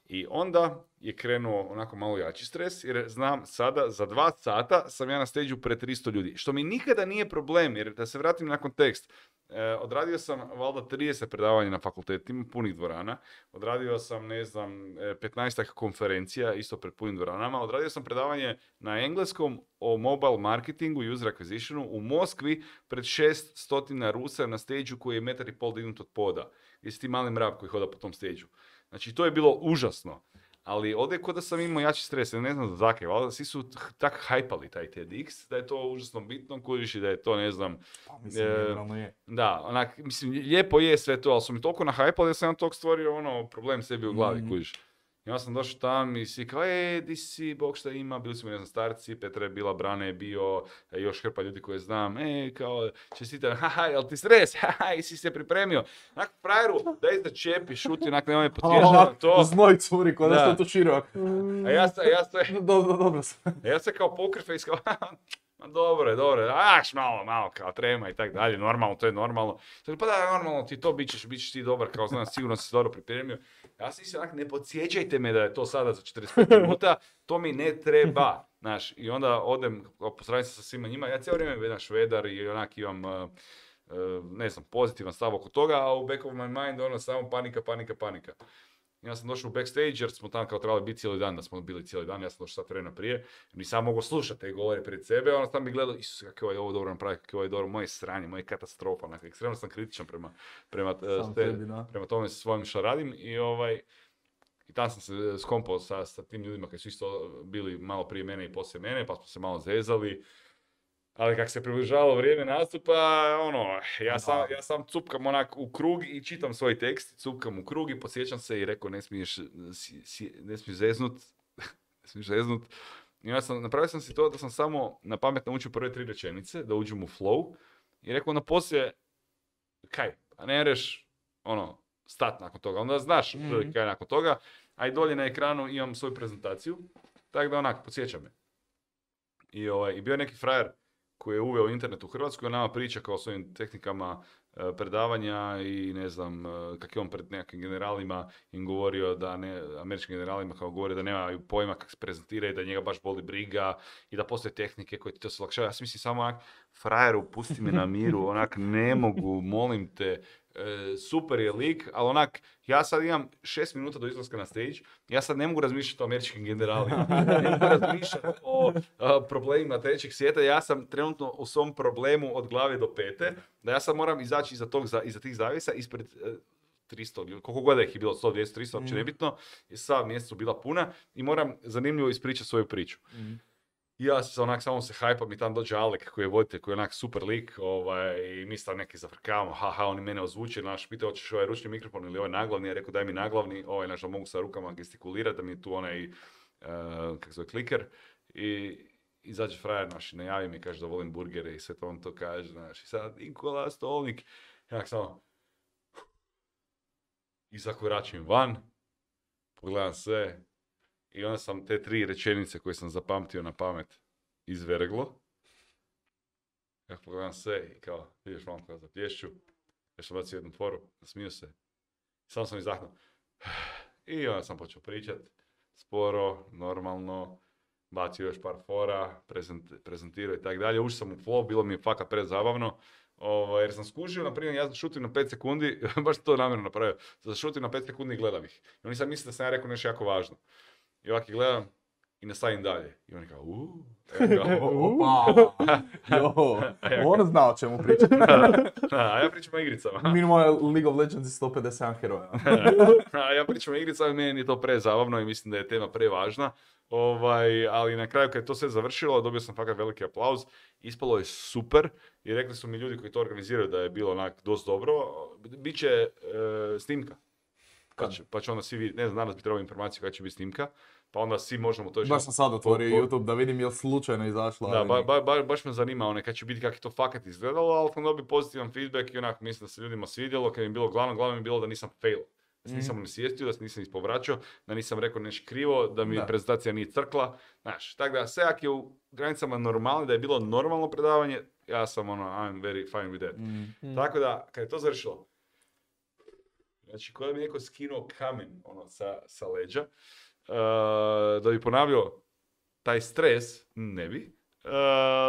I onda je krenuo onako malo jači stres, jer znam sada, za dva sata sam ja na stage-u pred tristo ljudi. Što mi nikada nije problem, jer da se vratim na kontekst. E, odradio sam valjda trideset predavanja na fakultetima, punih dvorana. Odradio sam, ne znam, petnaestak konferencija, isto pred punim dvoranama. Odradio sam predavanje na engleskom o mobile marketingu i user acquisitionu u Moskvi pred šest stotina Rusa na stage-u koji je metar i pol dignut od poda. Jesi ti mali mrav koji hoda po tom stage-u. Znači, to je bilo užasno. Ali ovdje je kod da sam imao jači stres, ne znam zakaj, valjda svi su tak hajpali taj TEDx, da je to užasno bitno, kužiš i da je to, ne znam... Pa mislim, generalno je. Da, onak, mislim, lijepo je sve to, ali su mi toliko nahajpali da sam ja tog stvorio, ono, problem sebi u glavi, mm. kužiš. I onda sam došao tam i svi kao, e, di si, Bog šta ima, bili su mi, ne znam, starci, Petra je bila, Brane je bio, još hrpa ljudi koje znam, e, kao, čestitam, haha, jel ti stres, haha, i si se pripremio. Onak, frajeru, daj da čepi, šuti, onak, nemoj me potježati na to. Znoj curi, kod da što tu širok. A ja sam, ja sam, dobro, dobro sam. Ja sam kao poker face, kao, dobro je, dobro je, aš malo, malo, kao trema i tak dalje, normalno, to je normalno. Pa da, normalno, ti to bit ćeš, bit ćeš ti dobar, kao znam, sigurno si se dobro pripremio. Ja sam si onak, ne podsjećajte me da je to sada za četrdeset pet minuta, to mi ne treba, znaš. I onda odem, pozdravim se sa svima njima, ja cijelo vrijeme jedan švedar i onak imam, uh, uh, ne znam, pozitivan stav oko toga, a u back of my mind ono samo panika, panika, panika. Ja sam došao u backstage jer smo tamo kao trebali biti cijeli dan, da smo bili cijeli dan, ja sam došao sat vremena prije, nisam mogao slušati te govore pred sebe, onda sam mi gledao, Isus, kako je ovo dobro napraviti, kako je ovo dobro, moje sranje, moje katastrofa, onak, ekstremno sam kritičan prema, prema, te, tebi, prema tome svojim što radim i ovaj, i tam sam se skompao sa, sa tim ljudima koji su isto bili malo prije mene i poslije mene, pa smo se malo zezali. Ali kako se približavalo vrijeme nastupa, ono, ja sam, ja sam cupkam onak u krug i čitam svoj tekst, cupkam u krug i podsjećam se i rekao ne smiješ, ne smiješ zeznut, ne smiješ zeznut. I ja sam, napravio sam si to da sam samo na pamet naučio prve tri rečenice, da uđem u flow i rekao na poslije, kaj, a ne reš, ono, stat nakon toga, onda znaš mm-hmm. kaj nakon toga, a i dolje na ekranu imam svoju prezentaciju, tako da onak, podsjećam me. I, ovaj, i bio je neki frajer koji je uveo internet u Hrvatsku i on nama priča kao svojim tehnikama e, predavanja i ne znam, e, kak je on pred nekakvim generalima im govorio da ne, američkim generalima kao govori da nemaju pojma kako se prezentira i da njega baš boli briga i da postoje tehnike koje ti to se olakšavaju. Ja sam mislim samo onak, frajeru, pusti me na miru, onak, ne mogu, molim te, e, super je lik, ali onak, ja sad imam šest minuta do izlaska na stage, ja sad ne mogu razmišljati o američkim generalima, ne mogu razmišljati o a, problemima trećeg svijeta, ja sam trenutno u svom problemu od glave do pete, da ja sad moram izaći iza, tog, iza tih zavisa ispred e, tristo ljudi, koliko god ih je bilo, sto, dvjesto, tristo, uopće nebitno, i sva mjesta su bila puna i moram zanimljivo ispričati svoju priču. Mm. I ja se onak, samo se hajpam i tam dođe Alek koji je voditelj, koji je onak super lik, ovaj, i mi tam neki zafrkavamo, haha, oni mene ozvuče, naš, pitao hoćeš ovaj ručni mikrofon ili ovaj naglavni, ja rekao daj mi naglavni, ovaj, naš, da mogu sa rukama gestikulirati, da mi je tu onaj, uh, kako zove, kliker, i izađe frajer naš i najavi mi, kaže da volim burgere i sve to on to kaže, znaš, i sad Nikola Stolnik, ja samo, i zakoračim van, pogledam sve, i onda sam te tri rečenice koje sam zapamtio na pamet izverglo. Ja pogledam sve i kao, vidiš malo kao zaplješću, još sam bacio jednu foru, nasmio se, samo sam izdahnuo. I onda sam počeo pričat, sporo, normalno, bacio još par fora, prezent, prezentirao i tako dalje. Ušao sam u flow, bilo mi je fakat prezabavno. Ovo, jer sam skužio, na primjer, ja šutim na pet sekundi, baš to namjerno napravio, šutim na pet sekundi i gledam ih. I oni sad misle da sam ja rekao nešto jako važno. I ovak ih gledam i nastavim dalje. I oni kao, uuu. Opa, jo, on zna o čemu pričati. A ja pričam o igricama. Minimal League of Legends je sto pedeset sedam heroja. A ja pričam o igricama i meni je to prezabavno i mislim da je tema prevažna. Ovaj, ali na kraju kad je to sve završilo, dobio sam fakat veliki aplauz. Ispalo je super i rekli su mi ljudi koji to organiziraju da je bilo onak dosta dobro. Biće e, snimka. Pa će, pa će onda svi vidjeti, ne znam, danas bi trebalo informaciju kada će biti snimka, pa onda svi možemo to... Baš sam sad otvorio po, po... YouTube da vidim je li slučajno izašla. Da, ba, ba, ba, baš me zanima one kad će biti kako je to fakat izgledalo, ali sam dobio pozitivan feedback i onako mislim da se ljudima svidjelo, kad mi je bilo glavno, glavno mi je bilo da nisam fail. Da se nisam mm. nisvijestio, da se nisam ispovraćao, da nisam rekao nešto krivo, da mi da. prezentacija nije crkla. Znaš, tako da sve jak je u granicama normalno, da je bilo normalno predavanje, ja sam ono, I'm very fine with that. Mm. Tako da, kad je to završilo, znači, kada bi neko skinuo kamen ono, sa, sa leđa, uh, da bi ponavljao taj stres, ne bi. Uh,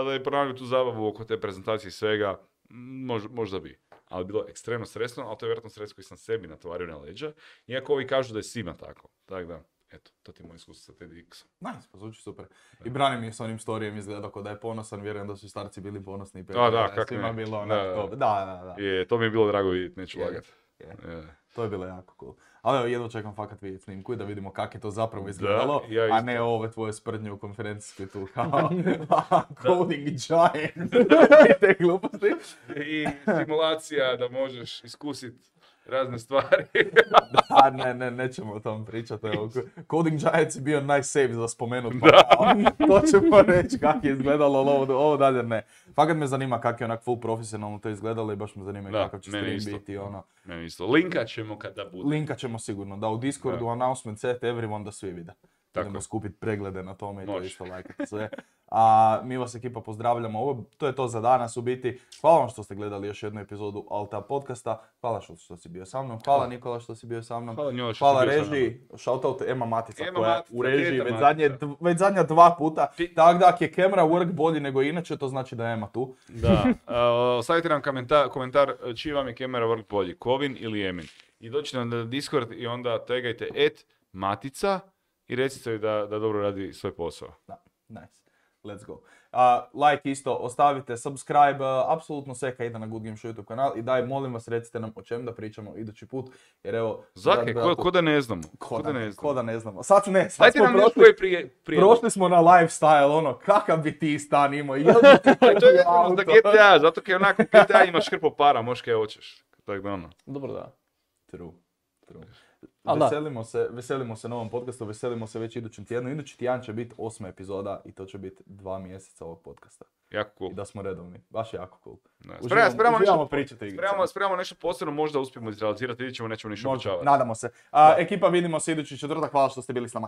da bi ponavljao tu zabavu oko te prezentacije i svega, mož, možda bi. Ali bilo ekstremno stresno, ali to je vjerojatno stres koji sam sebi natovario na leđa. Iako ovi kažu da je svima tako. Tako da, eto, to ti je moj iskustvo sa TEDxom. Nice, pa zvuči super. I Brani mi je s onim storijem izgledao kao da je ponosan, vjerujem da su starci bili ponosni. I A, da, kako svima ne. Bilo da, da, da, da, da. Je, to mi je bilo drago vidjeti, neću je, lagat. Je. Je. To je bilo jako cool. Ali evo, jedno čekam fakat vidjeti snimku i da vidimo kako je to zapravo izgledalo, da, ja a ne ove tvoje sprdnje u konferencijskoj tu kao coding giant i te gluposti. I simulacija da možeš iskusiti razne stvari. Da, ne, ne, nećemo o tom pričati. Evo, Coding Giants je bio najsafe za spomenut, pa to ćemo reći kako je izgledalo, ali ovo, ovo dalje ne. Fakat me zanima kako je onak full profesionalno to izgledalo i baš me zanima da, kakav će stream isto. Biti. Ono. Meni isto. Linka ćemo kada bude. Linka ćemo sigurno, da u Discordu, da. Announcement set everyone da svi vide. Idemo skupiti preglede na tome i to isto lajkati sve. A mi vas ekipa pozdravljamo, ovo, to je to za danas u biti. Hvala vam što ste gledali još jednu epizodu Alta podcasta. Hvala što, što si bio sa mnom. Hvala Nikola što si bio sa mnom. Hvala, njoj, Hvala režiji. Shoutout Ema Matica Ema koja je u režiji već, zadnje, već zadnja dva puta. Tako da ako je camera work bolji nego inače, to znači da je Ema tu. Da. Uh, ostavite nam komentar, komentar čiji vam je camera work bolji, Kovin ili Emin. I dođite nam na Discord i onda tagajte et Matica i recite joj da, da dobro radi svoj posao. Da, nice. Let's go. Uh, like isto, ostavite, subscribe, uh, apsolutno sve kad ide na Good Game Show YouTube kanal i daj, molim vas, recite nam o čem da pričamo idući put, jer evo... Zake, ko, ko da ne znamo? Ko da ne znamo? Ko da ne znamo. Sad, ne, sad Dajte smo nam prošli, koji prije, prije... prošli smo na lifestyle, ono, kakav bi ti stan imao, jel bi ti to je za G T A, zato kaj onako G T A imaš hrpo para, možeš kaj hoćeš. Tako da ono. Dobro da. True, true. Veselimo se, veselimo se novom podcastu, veselimo se već idućem tjednu. Idući tjedan će biti osma epizoda i to će biti dva mjeseca ovog podcasta. Jako cool. I da smo redovni. Baš je jako cool. Spremamo, spremamo, nešto, pričati spremamo, spremamo nešto posebno, možda uspijemo izrealizirati, vidjet ćemo, nećemo ništa obećavati. Nadamo se. A, ekipa, vidimo se idući četvrtak, hvala što ste bili s nama.